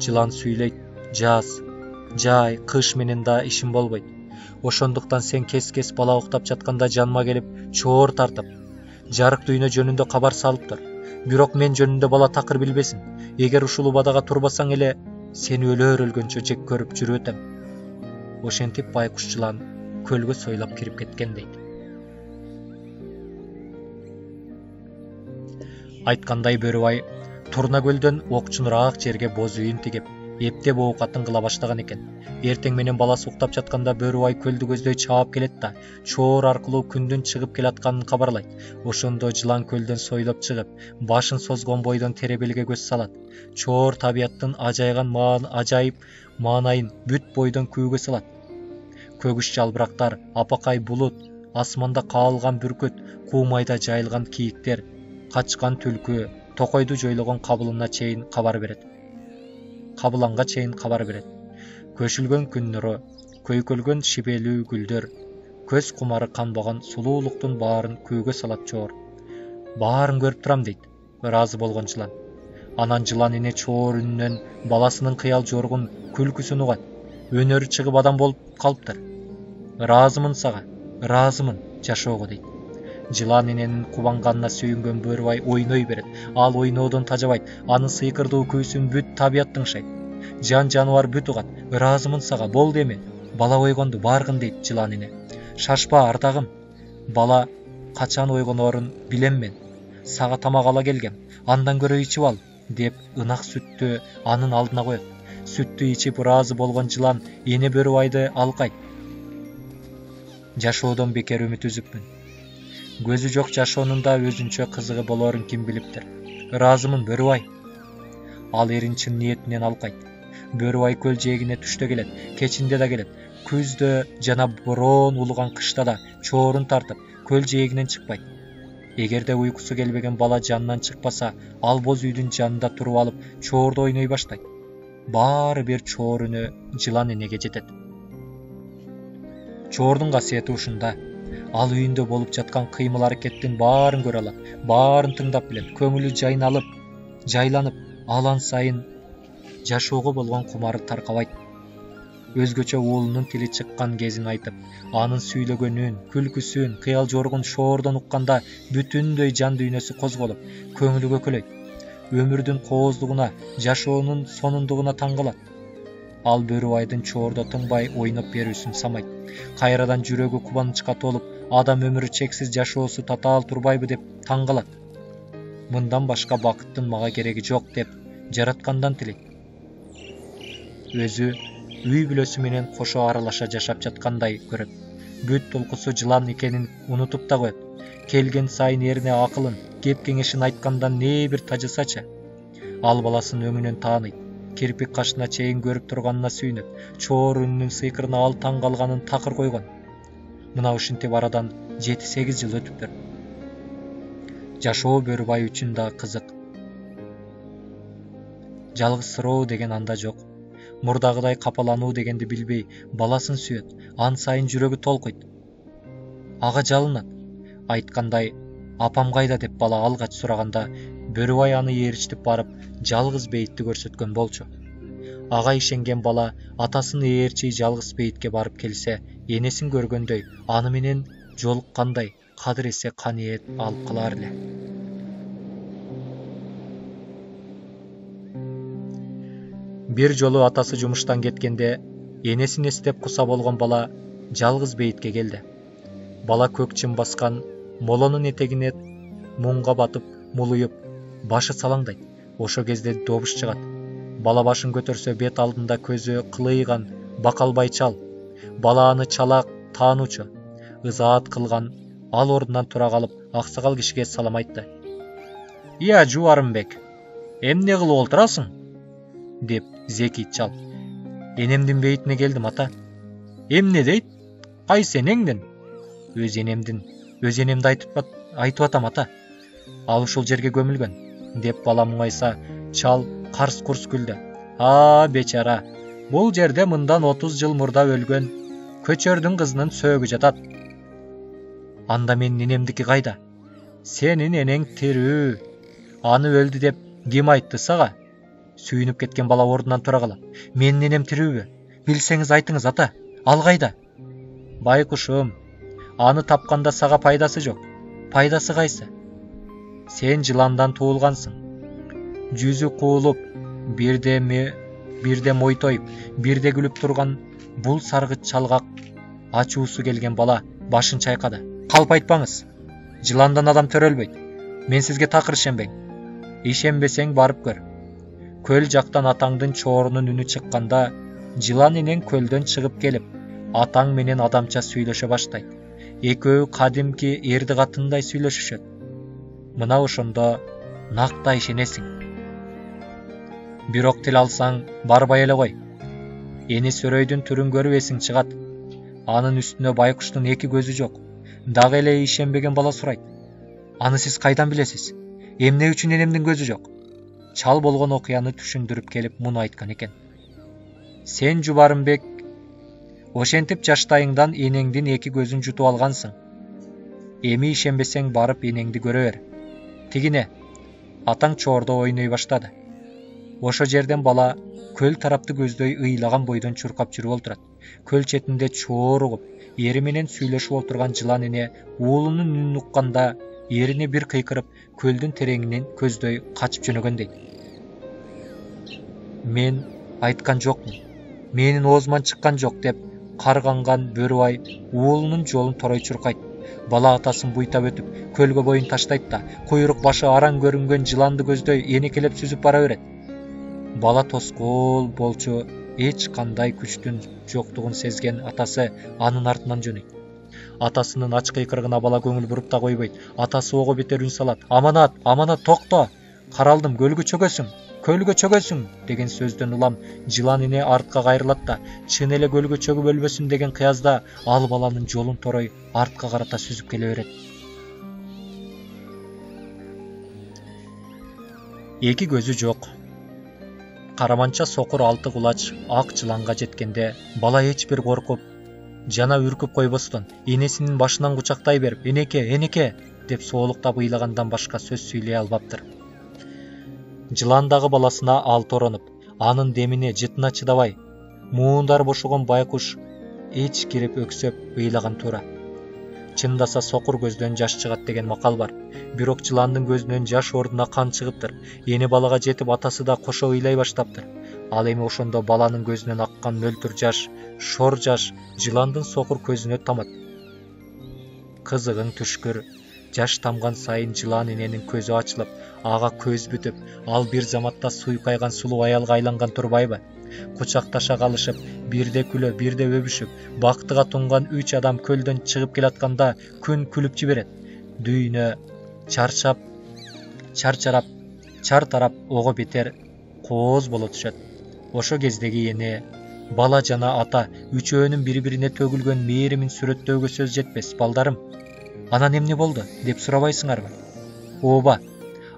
Жылан сүйлөйт. Жаз, жай, кыш менен да ишим болбойт. Ошондуктан сен кес-кес бала уктап жатканда жаныма келип, чоор тартып, жарык дүйнө жөнүндө кабар салып тур. Бирок мен жөнүндө бала такыр билбесин. Эгер ушул убадага турбасаң эле, сени өлгөнчө жек көрүп жүрүп өтөм. Ошентип байкуш жылан көлгө сойлап кирип кеткен дейт. Айткандай Бөрүбай Турна көлдөн окчунураак жерге боз үйүн тигип, эптеп оокатын кыла баштаган экен. Эртең менен баласы уктап жатканда Бөрүбай көлдү көздөй чаап келет да, чоор аркылуу күндүн чыгып келатканын кабарлайт. Ошондо жылан көлдөн сойлоп чыгып, башын созгон бойдон теребелге көз салат. Чоор табияттын ажайып маанайын бүт бойдон күүгө салат. Көгүш жалбырактар, апакай булут, асманда каалган бүркүт, куумайда жайылган кийиктер, качкан түлкү, токойду жойлогон кабыланга чейин кабар берет. Көшүлгөн күн нуру, көйкөлгөн шибелүү гүлдөр, көз кумары канбаган сулуулуктун баарын күүгө салат чоор. Баарын көрүп турам дейт, ыраазы болгон жылан. Анан жылан эне чоор үнүнөн баласынын кыял жоргун күлкүсүн угат. Өнөрү чыгып адам болуп калыптыр. Ыраазымын сага, ыраазымын жашоого дейт. Жылан эненин кубанганына сүйүнгөн Бөрүбай ойной берет. Ал ойноодон тажабайт. Анын сыйкырдуу күүсүн бүт табият тыңшайт. Жан жаныбар бүт угат. Ыраазымын сага, болду эми. Бала ойгонду, баргын дейт жылан эне. Шашпа ардагым. Бала качан ойгонорун билем мен. Сага тамак ала келгем. Андан көрө ичип ал, деп ынак сүттү анын алдына коет. Сүттү ичип ыраазы болгон жылан эне Бөрүбайды алкайт. Жашоодон бекер үмүт үзүпмүн. Көзү жок жашоонун да өзүнчө кызыгы болорун ким билиптир. Ыраазымын Бөрүбай. Ал эрин чын ниетинен алкайт. Бөрүбай көл жээгине түштө келет, кечинде да келет. Күздө жана бороон улуган кышта да чоорун тартып көл жээгинен чыкпайт. Эгерде уйкусу келбеген бала жанынан чыкпаса, ал боз үйдүн жанында туруп алып чоорду ойной баштайт. Баары бир чоор үнү жылан энеге жетет. Чоордун касиети ушунда. Ал үйүндө болуп жаткан кыймыл-аракеттин баарын көрө алат, баарын тыңдап билет, көңүлү жайланып, алан сайын жашоого болгон кумары таркабайт. Өзгөчө уулунун тили чыккан кезин айтып, анын сүйлөгөнүн, күлкүсүн, кыял жоргун шоордон укканда бүтүндөй жан дүйнөсү козголуп, көңүлү көкөлөйт. Өмүрдүн кооздугуна, жашоонун сонундугуна таң калат. Ал Бөрүбайдын чоордо тынбай ойноп берүүсүн самайт. Кайрадан жүрөгү кубанычка толуп, адам өмүрү чексиз жашоосу татаал турбайбы деп таң калат. Мындан башка бакыттын мага кереги жок деп жараткандан тилейт. Өзү үй бүлөсү менен кошо аралаша жашап жаткандай көрөт. Бүт толкусу жылан экенин унутуп да коет. Келген сайын эрине акылын, кеп кеңешин айткандан не бир тажысачы. Ал баласын өңүнөн тааныйт. Кирпик кашына чейин көрүп турганына сүйүнөт. Чоор үнүнүн сыйкырына ал таң калганын такыр койгон. Мына ушинтип арадан 7-8 жыл өтүптүр. Жашоо Бөрүбай үчүн да кызык. Жалгызсыроо деген анда жок. Мурдагыдай капалануу дегенди билбей, баласын сүйөт, ан сайын жүрөгү толкуйт. Ага жалынат. Айткандай, апам кайда деп бала алгач сураганда, Бөрүбай аны ээрчитип барып, жалгыз бейитти көрсөткөн болчу. Ага ишенген бала атасын ээрчий жалгыз бейитке барып келсе, энесин көргөндөй, аны менен жолуккандай, кадыресе каниет алып калар эле. Бир жолу атасы жумуштан кеткенде, энесин эстеп куса болгон бала жалгыз бейитке келди. Бала көк чым баскан молонун этегине муңга батып, мулуюп, башы салаңдайт. Ошо кезде добуш чыгат. Бала башын көтөрсө, бет алдында көзү кылыйган бакалбай чал. Бала аны чала таануучу. Ызаат кылган, ал ордунан тура калып, аксакал кишиге салам айтты. «Ия, Жубарымбек, эмне кылып олтурасың?» деп зекийт чал. «Энемдин бейитине келдим, ата». «Эмне дейт? Кайсы энеңдин?» «Өз энемди айтып атам, ата. Ал ушул жерге көмүлгөн», деп бала муңайса, чал карс-курс күлдү. Бечара, бул жерде мындан 30 жыл мурда өлгөн көчөрдүн кызынын сөөгү жатат. Анда менин энемдики кайда? Сенин энең тирүү. Аны өлдү деп ким айтты сага? Сүйүнүп кеткен бала ордунан тура калат. Менин энем тирүүбү? Билсеңиз айтыңыз, ата. Ал кайда? Байкушум, аны тапканда сага пайдасы жок. Пайдасы кайсы? Сен жыландан туулгансың. Жүзү куулуп, бирде мойтойуп, бирде күлүп турган бул саргыч чалга ачуусу келген бала башын чайкады. Калп айтпаңыз. Жыландан адам төрөлбөйт. Мен сизге такыр ишенбейм. Ишенбесең барып көр. Көл жактан атаңдын чоорунун үнү чыкканда, жылан энең көлдөн чыгып келип, атаң менен адамча сүйлөшө баштайт. Экөө кадимки эрди катындай сүйлөшүшөт. Мына ошондо накта ишенесиң. Бирок тил алсаң, барбай эле кой. Эни сөрөйдүн түрүн көрүп эсиң чыгат. Анын үстүнө байкуштун 2 көзү жок. Дагы эле ишенбеген бала сурайт. Аны сиз кайдан билесиз? Эмне үчүн энемдин көзү жок? Чал болгон окуяны түшүндүрүп келип муну айткан экен. Сен, Жубарымбек, ошентип жаштайыңдан энеңдин 2 көзүн жутуп алгансың. Эми ишенбесең барып энеңди көрө бер. Тигине, атаң чоордо ойной баштады. Ошо жерден бала көл тарапты көздөй ыйлаган бойдон чуркап жүрүп олтурат. Көл четинде чоор угуп, ери менен сүйлөшүп олтурган жылан эне уулунун үнүн укканда, эрине бир кыйкырып, көлдүн тереңинен көздөй качып жөнөгөндөйт. Мен айткан жокмун. Менин оозуман чыккан жок деп карганган Бөрүбай уулунун жолун торой чуркайт. Бала атасын буйтап өтүп, көлгө боюн таштайт да, куйрук башы араң көрүнгөн жыланды көздөй энекелеп сүзүп бара берет. Бала тоскоол болчу, эч кандай күчтүн жоктугун сезген атасы анын артынан жөнөйт. Атасынын ач кыйкырыгына бала көңүл буруп да койбойт. Атасы ого бетер үн салат. Аманат, токто! Каралдым, көлгө чөгөсүң. көлгө чөгөсүң деген сөздөн улам жылан ине артка кайрылат да чын эле көлгө чөгүп өлбөсүн деген кыязда ал баланын жолун торой артка карата сүзүп келе берет. Эки көзү жок. Караманча сокур алты кулач ак жыланга жеткенде бала эч бир коркуп жана үркүп койбостон энесинин башынан кучактай берип «Энеке!» деп соолуктап ыйлагандан башка сөз сүйлөй албаптыр. Жылан дагы баласына алторонуп, анын демине жытына чыдабай, муундар бошогон байкуш эчкирип өксөп ыйлаган туура. Чындаса сокур көздөн жаш чыгат деген макал бар. Бирок жыландын көзүнөн жаш ордуна кан чыгыптыр. Эне балага жетип атасы да кошо ыйлай баштаптыр. Ал эми ошондо баланын көзүнөн аккан мөлтүр жаш, шор жаш жыландын сокур көзүнө тамат. Кызыгың түшкүр. Жаш тамган сайын жылан эненин көзү ачылып, ага көз бүтүп, ал бир заматта суйкайган сулуу аялга айланган турбайбы? Кучакташа калышып, бирде күлө, бирде өбүшүп, бактыга тунган 3 адам көлдөн чыгып келатканда күн күлүп жиберет. Дүйнө чартарап ого бетер кооз боло түшөт. Ошо кездеги эне, бала жана ата үчөөнүн бири-бирине төгүлгөн мээримин сүрөттөөгө сөз жетпес, балдарым. Анан эмне болду деп сурабайсыңарбы? Ооба,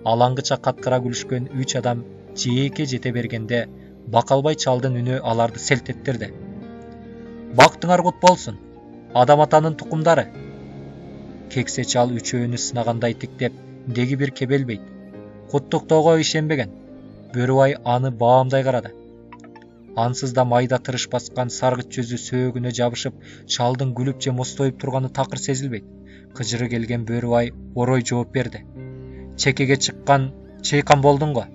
алаңгыча каткыра күлүшкөн 3 адам жээкке жете бергенде Бакалбай чалдын үнү аларды селт эттирди. Бактыңар кут болсун, адам атанын тукумдары. Кексе чал үчөөнү сынагандай тиктеп, деги бир кебелбейт. Куттуктоого ишенбеген. Бөрүбай аны баамдай карады. Ансыз да майда тырыш баскан саргыч жүзү сөөгүнө жабышып, чалдын күлүп же мостоюп турганы такыр сезилбейт. Кыжыры келген Бөрүбай орой жооп берди. Чекеге чыйкан болдуң го.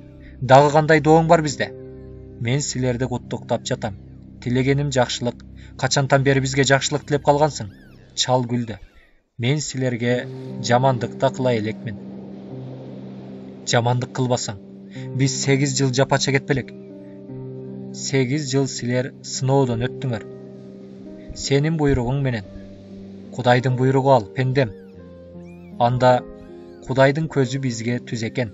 Дагы кандай дооң бар бизде? Мен силерди куттуктап жатам. Тилегеним жакшылык. Качантан бери бизге жакшылык тилеп калгансың? Чал күлдү. Мен силерге жамандык да кыла элекмин. Жамандык кылбасаң, биз 8 жыл жапа чегет белек. 8 жыл силер сыноодон өттүңөр. Сенин буйругуң менен. Кудайдын буйругу ал, пендем. Анда Кудайдын көзү бизге түз экен.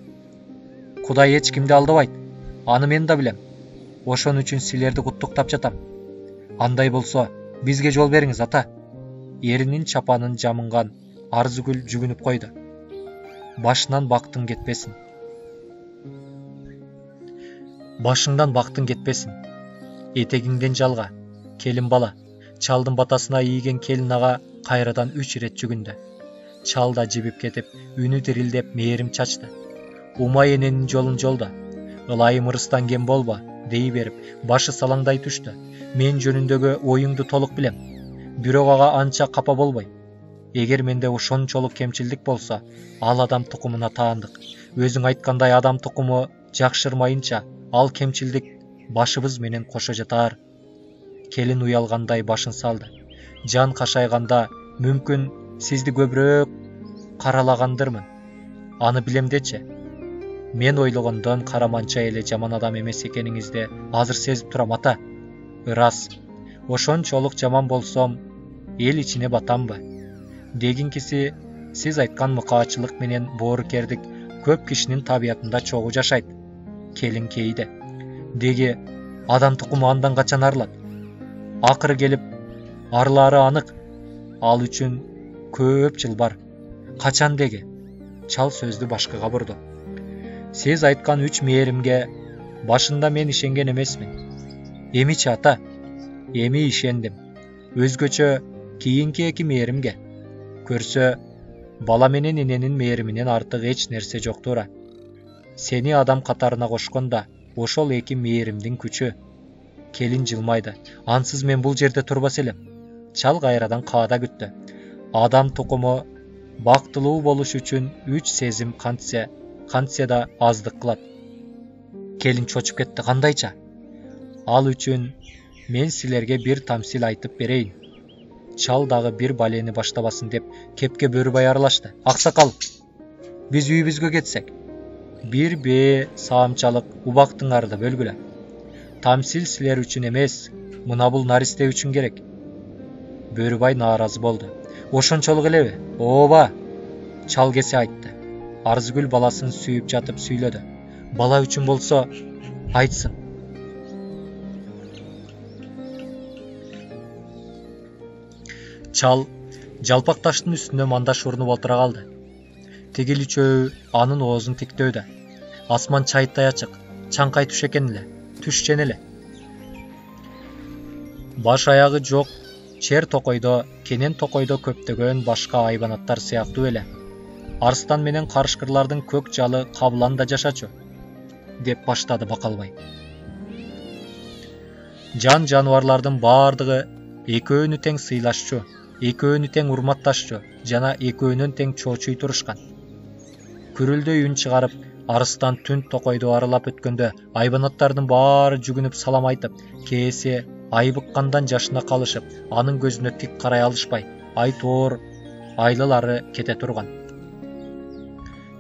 Кудай эч кимди алдабайт. Аны мен да билем. Ошон үчүн силерди куттуктап жатам. Андай болсо, бизге жол бериңиз, ата. Эринин чапанын жамынган Арзыгүл жүгүнүп койду. Башынан бактың кетпесин. Башыңдан бактың кетпесин. Этегиңден жалга, келин бала. Чалдын батасына ийген келин ага кайрадан 3 ирет жүгүндү. Чал да жибип кетип, үнү дирилдеп мээрим чачты. Умай эненин жолун жолдо. Ылайым ырыстан кем болбо, дей берип, башы салаңдай түштү. Мен жөнүндөгү оюңду толук билем. Бирок ага анча капа болбой. Эгер менде ошончолук кемчилдик болсо, ал адам тукумуна таандык. Өзүң айткандай адам тукуму жакшырмайынча, ал кемчилдик башыбыз менен кошо жатар. Келин уялгандай башын салды. Жан кашайганда мүмкүн сизди көбүрөөк каралагандырмын. Аны билем дечи. Мен ойлогондон Караманча эле жаман адам эмес экениңизди азыр сезип турам, ата. Ырас. Ошончолук жаман болсом, эл ичине батамбы? Дегинкиси, сиз айткан мыкаачылык менен боорукердик көп кишинин табиятында чогуу жашайт. Келин кейде. Деги адам тукуму андан качан арылат? Акыры келип арылаары анык. Ал үчүн көп жыл бар. Качан деги? Чал сөздү башкага бурду. Сиз айткан 3 мээримге башында мен ишенген эмесмин. Эмичи, ата? Эми ишендим. Өзгөчө кийинки 2 мээримге. Көрсө, бала менен эненин мээриминен артык эч нерсе жок туура. Сени адам катарына кошконда, ошол 2 мээримдин күчү. Келин жылмайды. Ансыз мен бул жерде турбас элем. Чал кайрадан каада күттү. Адам тукуму бактылуу болуш үчүн 3 сезим кантсе да аздык кылат. Келин чочуп кетти. Кандайча? Ал үчүн мен силерге бир тамсил айтып берейин. Чал дагы бир балени баштабасын деп кепке Бөрүбай аралашты. Аксакал, биз үйүбүзгө кетсек. Бир бээ саамчалык убактыңарды бөлгүлө. Тамсил силер үчүн эмес, мына бул наристе үчүн керек. Бөрүбай нааразы болду. Ошончолук элеби? Ооба. Чал кесе айтты. Арзыгүл баласын сүйүп жатып сүйлөдү. Бала үчүн болсо айтсын. Чал жалпак таштын үстүнө мандаш урунуп отура калды. Тигил үчөө анын оозун тиктөөдө. Асман чайыттай ачык, чаңкай түш экен эле, түшчен эле. Баш аягы жок чер токойдо, кенен токойдо көптөгөн башка айбанаттар сыяктуу эле. Арстан менен карышкырлардын көк жалы Кабылан да жашачу, деп баштады Бакалбай. Жан жаныбарлардын баардыгы экөөнү тең сыйлашчу, экөөнү тең урматташчу жана экөөнөн тең чоочуй турушкан. Күрүлдөй үн чыгарып, Арыстан түн токойду аралап өткөндө айбанаттардын баары жүгүнүп салам айтып, кээси айбыккандан жашына калышып, анын көзүнө тик карай алышпай, айтоор айлалары кете турган.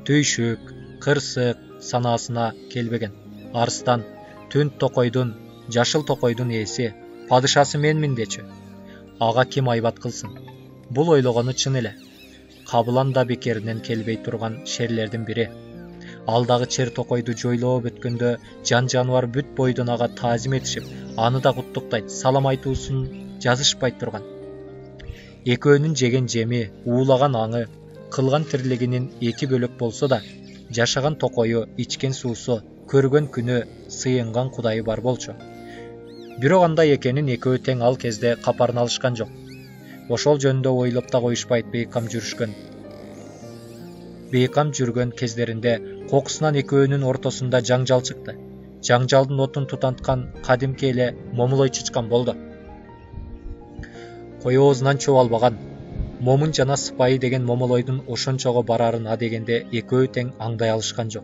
Түйшүк, кырсык санаасына келбеген. Арыстан түн токойдун, жашыл токойдун ээси, падышасы менмин дечү. Ага ким айбат кылсын? Бул ойлогону чын эле. Кабылан да бекеринен келбей турган шерлердин бири. Ал дагы чер токойду жойлоп өткөндө жан жаныбар бүт бойдон ага таазим этишип, аны да куттуктайт, салам айтуусун жазышпай турган. Экөөнүн жеген жеми, уулаган аңы, кылган тирлигинин эки бөлөк болсо да, жашаган токою, ичкен суусу, көргөн күнү, сыйынган кудайы бар болчу. Бирок андай экенин экөө тең ал кезде капарын алышкан жок. Ошол жөнүндө ойлоп да коюшпайт бейкам жүргөн кездеринде кокусунан экөөнүн ортосунда жаңжал чыкты. Жаңжалдын отун тутанткан кадимки эле момулой чычкан болду. Кой оозунан чөп албаган, момун жана сыпайы деген момолойдун ошончого барарын адегенде экөө тең аңдай алышкан жок.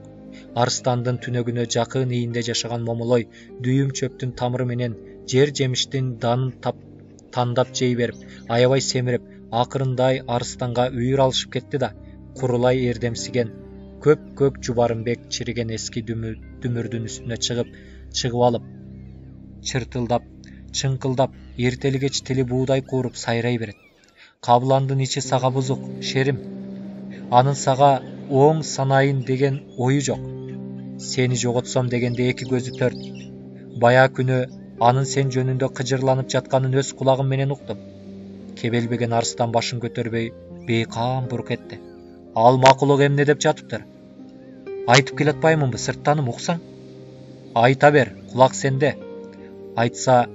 Арстандын түнөгүнө жакын ийинде жашаган момолой дүйүм чөптүн тамыры менен жер жемиштин данын тандап жей берип, аябай семирип, акырындай Арстанга үйүр алышып кетти да, курулай эрдемсиген көк жубарымбек чириген эски дүмүрдүн үстүнө чыгып алып, чыртылдап, чыңкылдап, эртели кеч тили буудай кууруп сайрай берет. Кабыландын ичи сага бузук, шерим. Анын сага оң санайын деген ою жок. Сени жоготсом дегенде эки көзү төрт. Бая күнү анын сен жөнүндө кыжырланып жатканын өз кулагым менен уктум. Кебелбеген Арстан башын көтөрбөй бейкам бурук этти. Ал макулук эмне деп жатыптыр? Айтып келатпаймынбы, сырттаным, уксаң? Айта бер, кулак сенде. Айтса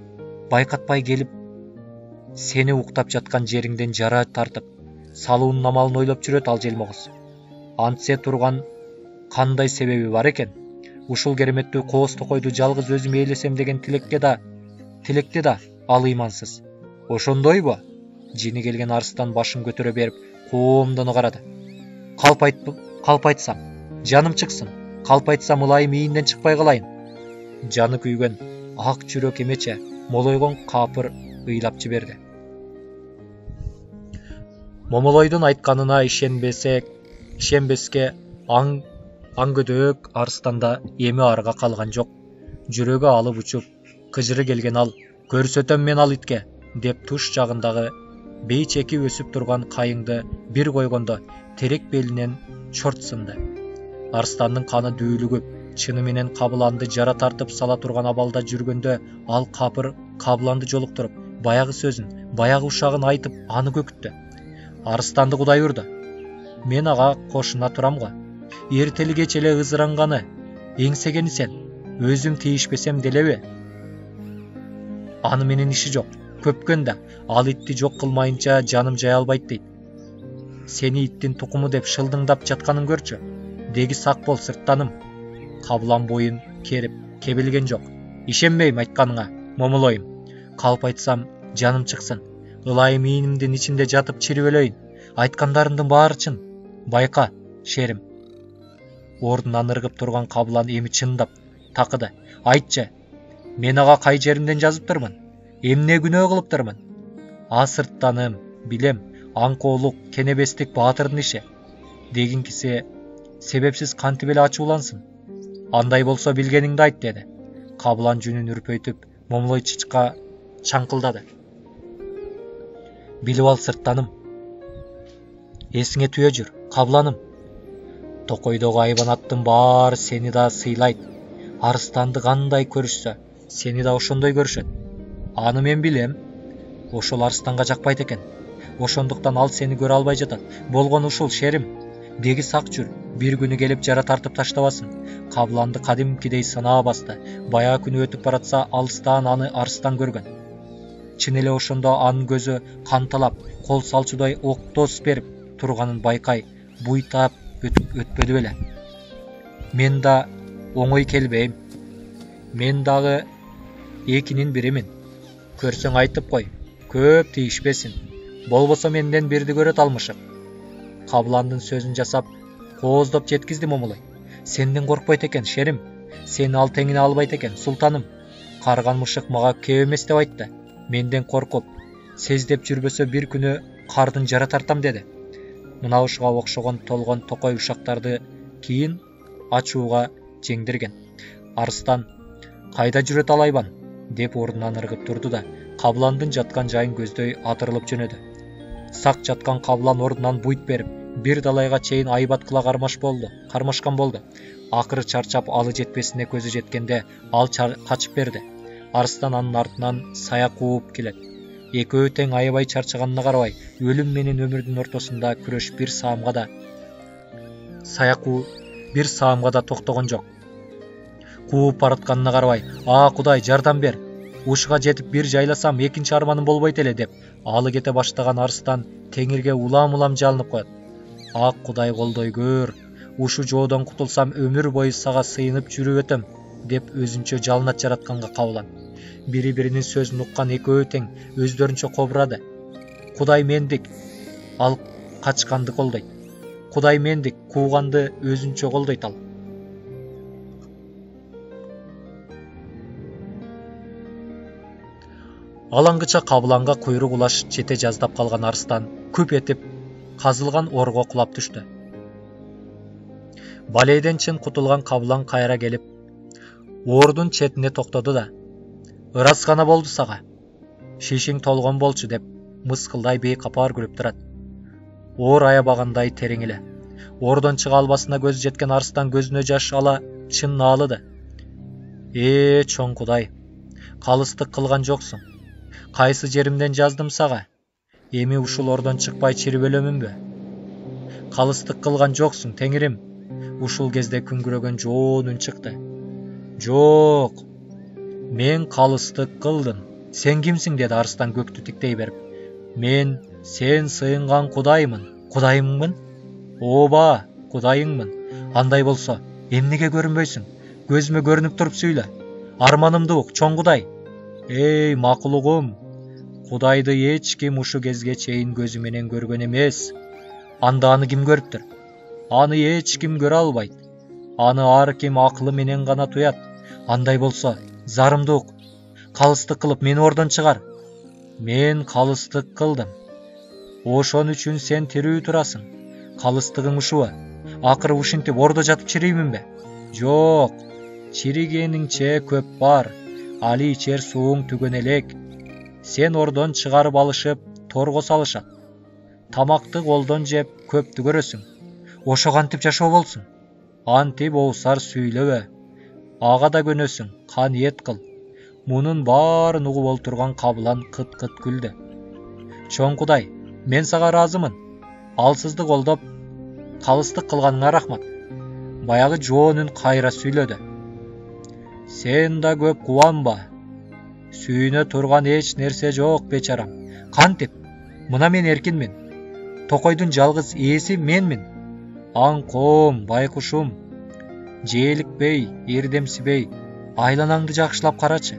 байкатпай келип, сени уктап жаткан жериңден жара тартып, салуунун амалын ойлоп жүрөт ал желмогуз. Антсе турган кандай себеби бар экен? Ушул кереметтүү кооз токойду жалгыз өзүм ээлесем деген тилекте да ал ыймансыз. Ошондойбу? Жини келген Арстан башын көтөрө берип, коомдоно карады. Калп айтсам, жаным чыксын. Калп айтсам ылайым ийинден чыкпай калайын. Жаны күйгөн ак жүрөк эмече молойгон капыр ыйлап жиберди. Момолойдун айтканына ишенбеске аңгөдөк Арстанда эми арга калган жок. Жүрөгү алып учуп, кыжыры келген ал, көрсөтөм мен ал итке, деп туш жагындагы бейчеки өсүп турган кайыңды бир койгондо терек белинен чорт сынды. Арстандын каны дүүлүгүп, чыны менен Кабыланды жара тартып сала турган абалда жүргөндө ал Кабыланды жолуктуруп, баягы сөзүн, баягы ушагын айтып, аны көкүттү. Арстанды Кудай урду. Мен ага кошуна турам го. Эртели кеч эле ызыранганы, эңсегени сен, өзүм тийишпесем делеби? Аны менен иши жок. Көпкөн да, ал итти жок кылмайынча жаным жай албайт дейт. Сени иттин тукуму деп шылдыңдап жатканын көрчү. Деги сак бол, сырттаным. Кабылан боюн керип, кебелген жок. Ишенбейм айтканыңа, момолойум. Калп айтсам, жаным чыксын. Ылайым ийинимдин ичинде жатып чирип өлөйүн. Айткандарымдын баары чын. Байка, шерим. Ордунан ыргып турган Кабылан эми чындап такыды. Айтчы, мен ага кай жеримден жазыптырмын? Эмне күнөө кылыптырмын? Сырттаным, билем, аңкоолук, кенебестик баатырдын иши. Дегинкиси себепсиз кантип эле ачуулансын? Андай болсо билгениңди айт, деди. Кабылан жүнүн үрпөйтүп, момолой чычка чаңкылдады. Билип ал, сырттаным. Эсиңе түйө жүр, Кабыланым. Токойдогу айбанаттын баары сени да сыйлайт. Арстанды кандай көрүшсө, сени да ошондой көрүшөт. Аны мен билем. Ошол арстанга жакпайт экен. Ошондуктан ал сени көрө албай жатат. Болгону ушул, шерим. Деги сак жүр. Бир күнү келип жара тартып таштабасын. Кабланды кадимкидей сынаа басты. Баягы күнү өтүп баратса, алыстан аны арстан көргөн. Чын эле ошондо анын көзү канталап, кол салчудай октос берип турганын байкай, буйтап өтпөдү беле. Мен да оңой келбейм. Мен дагы экинин биримин. Көрсөң айтып кой, көп тийишпесин. Болбосо менден бирди көрөт алмышык. Кабландын сөзүн жасап, кооздоп жеткизди момулай. Сенден коркпойт экен, шерим. Сени ал теңине албайт экен, султаным. Карган мышык мага кеп эмес деп айтты. Менден коркуп, сездеп жүрбөсө бир күнү кардын жара тартам деди. Мына ушуга окшогон толгон токой ушактарды кийин ачууга жеңдирген. Арстан, кайда жүрөт ал айбан? Деп ордунан ыргып турду да, кабландын жаткан жайын көздөй атырылып жөнөдү. Сак жаткан каблан ордунан буйт берип, бир далайга чейин айбаткыла кармашкан болду. Акыры чарчап алы жетпесине көзү жеткенде ал качып берди. Арстан анын артынан сая кууп келет. Экөө тең аябай чарчаганына карабай, өлүм менен өмүрдүн ортосунда күрөш бир саамга да токтогон жок. Кууп баратканына карабай, Кудай, жардам бер. Ушуга жетип бир жайласам, экинчи арманым болбойт эле деп, алы кете баштаган арстан теңирге улам жалынып коет. Кудай, колдой көр. Ушу жоодон кутулсам, өмүр бою сага сыйынып жүрүп өтөм, деп өзүнчө жалынат жаратканга кабылан. Бири-биринин сөзүн уккан экөө тең өздөрүнчө кобурады. Кудай мендик, ал качканды колдойт. Кудай мендик, кууганды өзүнчө колдойт ал. Алаңгыча кабланга куйрук улаш жете жаздап калган арстан күп этип казылган орго кулап түштү. Балейден чын кутулган каблан кайра келип, ордун четине токтоду да: "Ырас гана болду сага. Шишиң толгон болчу" деп мыскылдай бейкапар күлүп турат. Оор аябагандай терең эле. Ордон чыга албасына көзү жеткен арстан көзүнө жаш ала чын наалыды. Чоң Кудай, калыстык кылган жоксуң. Кайсы жеримден жаздым сага? Эми ушул ордон чыкпай чирип өлөмүнбү? Калыстык кылган жоксуң, Теңирим. Ушул кезде күңгүрөгөн жоон үн чыкты. Жок, мен калыстык кылдым. Сен кимсиң? Деди арстан көктү тиктей берип. Мен сен сыйынган Кудайыммын? Ооба, Кудайыңмын. Андай болсо, эмнеге көрүнбөйсүң? Көзүмө көрүнүп туруп сүйлө. Арманымды ук, чоң Кудай. Макулугум, Кудайды эч ким ушу кезге чейин көзү менен көргөн эмес. Анда аны ким көрүптүр? Аны эч ким көрө албайт. Аны ар ким акылы менен гана туят. Андай болсо, зарымды ук. Калыстык кылып мени ордон чыгар. Мен калыстык кылдым. Ошон үчүн сен тирүү турасың. Калыстыгың ушубу? Акыры ушинтип ордо жатып чирийминби? Жок, чиригениңче көп бар. Али ичер сууң түгөн элек. Сен ордон чыгарып алышып, торго салышат. Тамакты колдон жеп көптү көрөсүң. Ошо кантип жашоо болсун? Антип оусар сүйлөбө. Ага да көнөсүң, каниет кыл. Мунун баарын угуп олтурган каблан кыт-кыт күлдү. Чоң Кудай, мен сага ыраазымын. Алсызды колдоп, калыстык кылганыңа рахмат. Баягы жоон үн кайра сүйлөдү. Сен да көп кубанба. Сүйүнө турган эч нерсе жок, бечарам. Кантип? Мына мен эркинмин. Токойдун жалгыз ээси менмин. Аңкоом, байкушум. Жээликпей, эрдемсибей, айланаңды жакшылап карачы.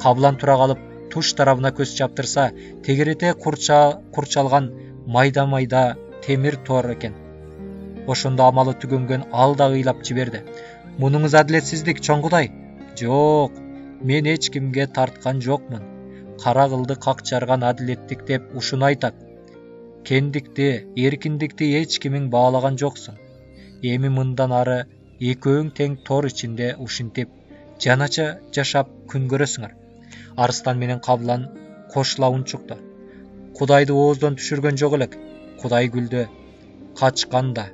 Каблан тура калып, туш тарабына көз чаптырса, тегерете курчалган майда темир тор экен. Ошондо амалы түгөнгөн ал да ыйлап жиберди. Мунуңуз адилетсиздик, чоң Кудай. Жок, мен эч кимге тарткан жокмун. Кара кылды какчарган адилеттик деп ушуну айтат. Кендикти, эркиндикти эч кимиң баалаган жоксуң. Эми мындан ары экөөң тең тор ичинде ушинтип жанача жашап күн көрөсүңөр. Арстан менен каблан кошула унчукту. Кудайды ооздон түшүргөн жок элек. Кудай күлдү. Качканда,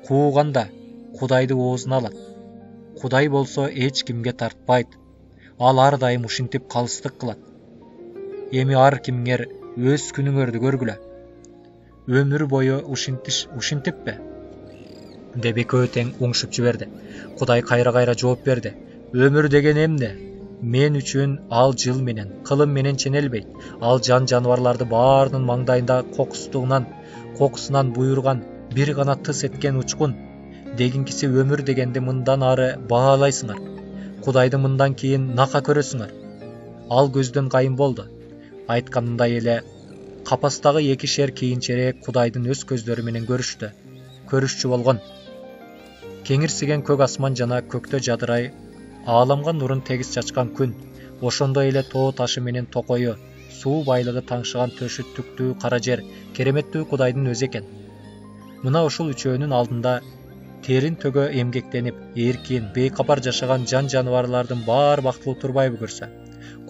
кууганда Кудайды оозуна алат. Кудай болсо эч кимге тартпайт. Ал ар дайым ушинтип калыстык кылат. Эми ар кимиңер өз күнүңөрдү көргүлө. Өмүр бою ушинтиппи? деп экөө тең уңшуп жиберди. Кудай кайра жооп берди. Өмүр деген эмне? Мен үчүн ал жыл менен, кылым менен ченелбейт. Ал жан жаныбарларды баарынын маңдайында кокусунан буйруган бир гана тыс эткен учкун. Дегинкиси өмүр дегенди мындан ары баалайсыңар. Кудайды мындан кийин нака көрөсүңөр. Ал көздөн кайын болду. Айтканындай эле капастагы 2 кийинчерээк Кудайдын өз көздөрү менен көрүшчү болгон. Кеңирсиген көк асман жана көктө жадырай ааламга нурун тегиз чачкан күн, ошондой эле тоо ташы менен токою, суу байлыгы таңшыган төшү түктүү кара жер кереметтүү Кудайдын өзү экен. Мына ушул үчөөнүн алдында терин төгө эмгектенип, эркин, бейкапар жашаган жан жаныбарлардын баары бактылуу турбайбы көрсө?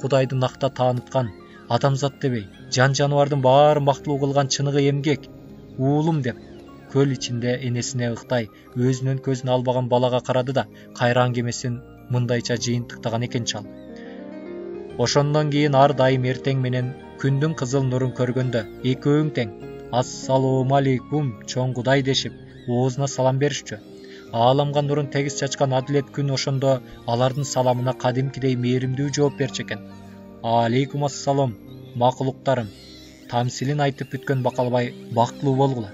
Кудайды накта тааныткан адамзат дебей, жан жаныбардын баарын бактылуу кылган чыныгы эмгек, уулум деп көл ичинде энесине ыктай, өзүнүн көзүн албаган балага карады да, кайра аңгемесин мындайча жыйынтыктаган экен чал. Ошондон кийин ар дайым эртең менен күндүн кызыл нурун көргөндө экөөң тең «Ассалому алейкум, чоң Кудай» дешип, оозуна салам беришчү. Ааламга нурун тегиз чачкан адилет күн ошондо алардын саламына кадимкидей мээримдүү жооп берчү экен. «Алейкум ассалам, макулуктарым, тамсилин айтып бүткөн бакалбай бактылуу болгула.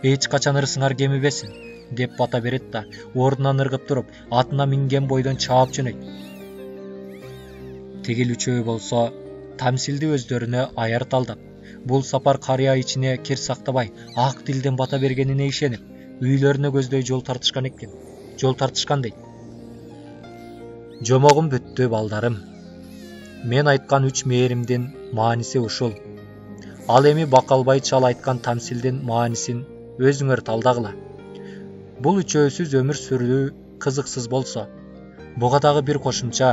Эч качан ырысыңар кемибесин» деп бата берет да, ордунан ыргып туруп, атына минген бойдон чаап жөнөйт. Тигил үчөө болсо тамсилди өздөрүнө аяр талдап, бул сапар карыя ичине кир сактабай, ак дилден бата бергенине ишенип, үйлөрүнө көздөй жол тартышкан дейт. Жомогум бүттү балдарым. Мен айткан 3 мээримдин мааниси ушул. Ал эми бакалбай чал айткан тамсилдин маанисин өзүңөр талдагыла. Бул үчөөсүз өмүр сүрүү кызыксыз болсо, буга дагы бир кошумча,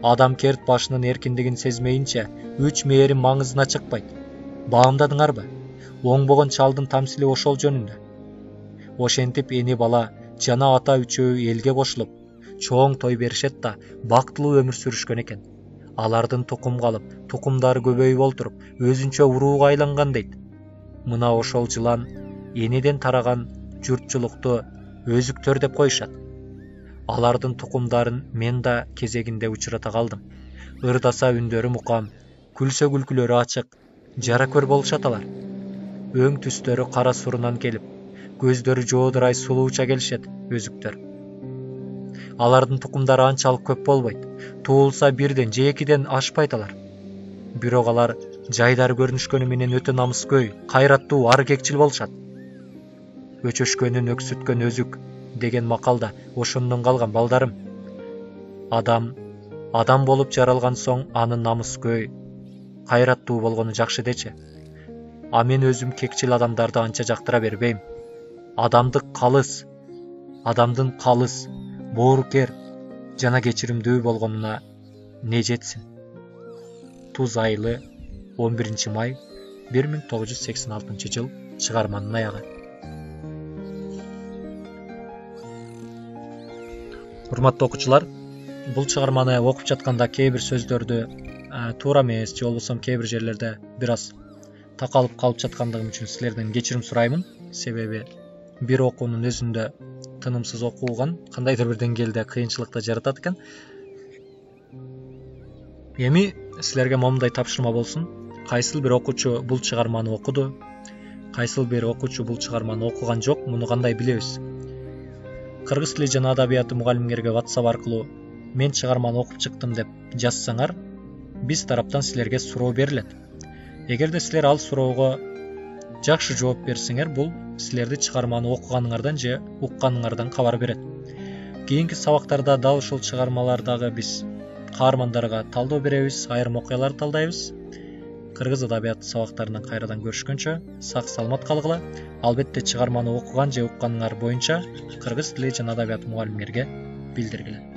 адам керт башынын эркиндигин сезмейинче 3 мээрим маңызына чыкпайт. Баамдадыңарбы? Оңбогон чалдын тамсили ошол жөнүндө. Ошентип эни бала жана ата үчөө элге кошулуп, чоң той беришет да, бактылуу өмүр сүрүшкөн экен. Алардын тукумга алып, тукумдары көбөйүп олтуруп, өзүнчө урууга айланган дейт. Мына ошол жылан энеден тараган журтчулукту өзүктөр деп коюшат. Алардын тукумдарын мен да кезегинде учурата калдым. Ырдаса үндөрү мукам, күлсө күлкүлөрү ачык, жара көр болушат алар. Өң түстөрү кара сурунан келип, көздөрү жоодурай сулууча келишет өзүктөр. Алардын тукумдары анчалык көп болбойт. Туулса 1ден же 2ден ашпайт алар. Бирок алар жайдары көрүнүшкөнү менен өтө намыскөй, кайраттуу, ар кекчил болушат. Өчөшкөнүн өксүткөн өзүк деген макалда ошондон калган балдарым. Адам болуп жаралган соң анын намыскөй, кайраттуу болгону жакшы дечи. А мен өзүм кекчил адамдарды анча жактыра бербейм. Адамдын калыс, боорукер жана кечиримдүү болгонуна не жетсин. Туз айылы 11 май 1986 жыл чыгарманын аягы. Урматтуу окуучулар, бул чыгарманы окуп жатканда кээ бир сөздөрдү туура эмес же болбосо кээ бир жерлерде бир аз такалып калып жаткандыгым үчүн силерден кечирим сураймын. Себеби бир окуунун өзүндө тынымсыз окуган кандайдыр бир деңгээлде кыйынчылыкты жаратат экен. Эми силерге момундай тапшырма болсун. Кайсыл бир окуучу бул чыгарманы окуду, кайсыл бир окуучу бул чыгарманы окуган жок, муну кандай билебиз? Кыргыз тили жана адабияты мугалимдерге WhatsApp аркылуу мен чыгарманы окуп чыктым деп жазсаңар, биз тараптан силерге суроо берилет. Эгерде силер ал суроого жакшы жооп берсеңер, бул силерди чыгарманы окуганыңардан же укканыңардан кабар берет. Кийинки сабактарда дал ушул чыгармалардагы биз каармандарга талдоо беребиз, айрым окуяларды талдайбыз. Кыргыз адабияты сабактарынан кайрадан көрүшкөнчө сак саламат калгыла. Албетте чыгарманы окуган же укканыңар боюнча кыргыз тили жана адабияты мугалимдерге билдиргиле.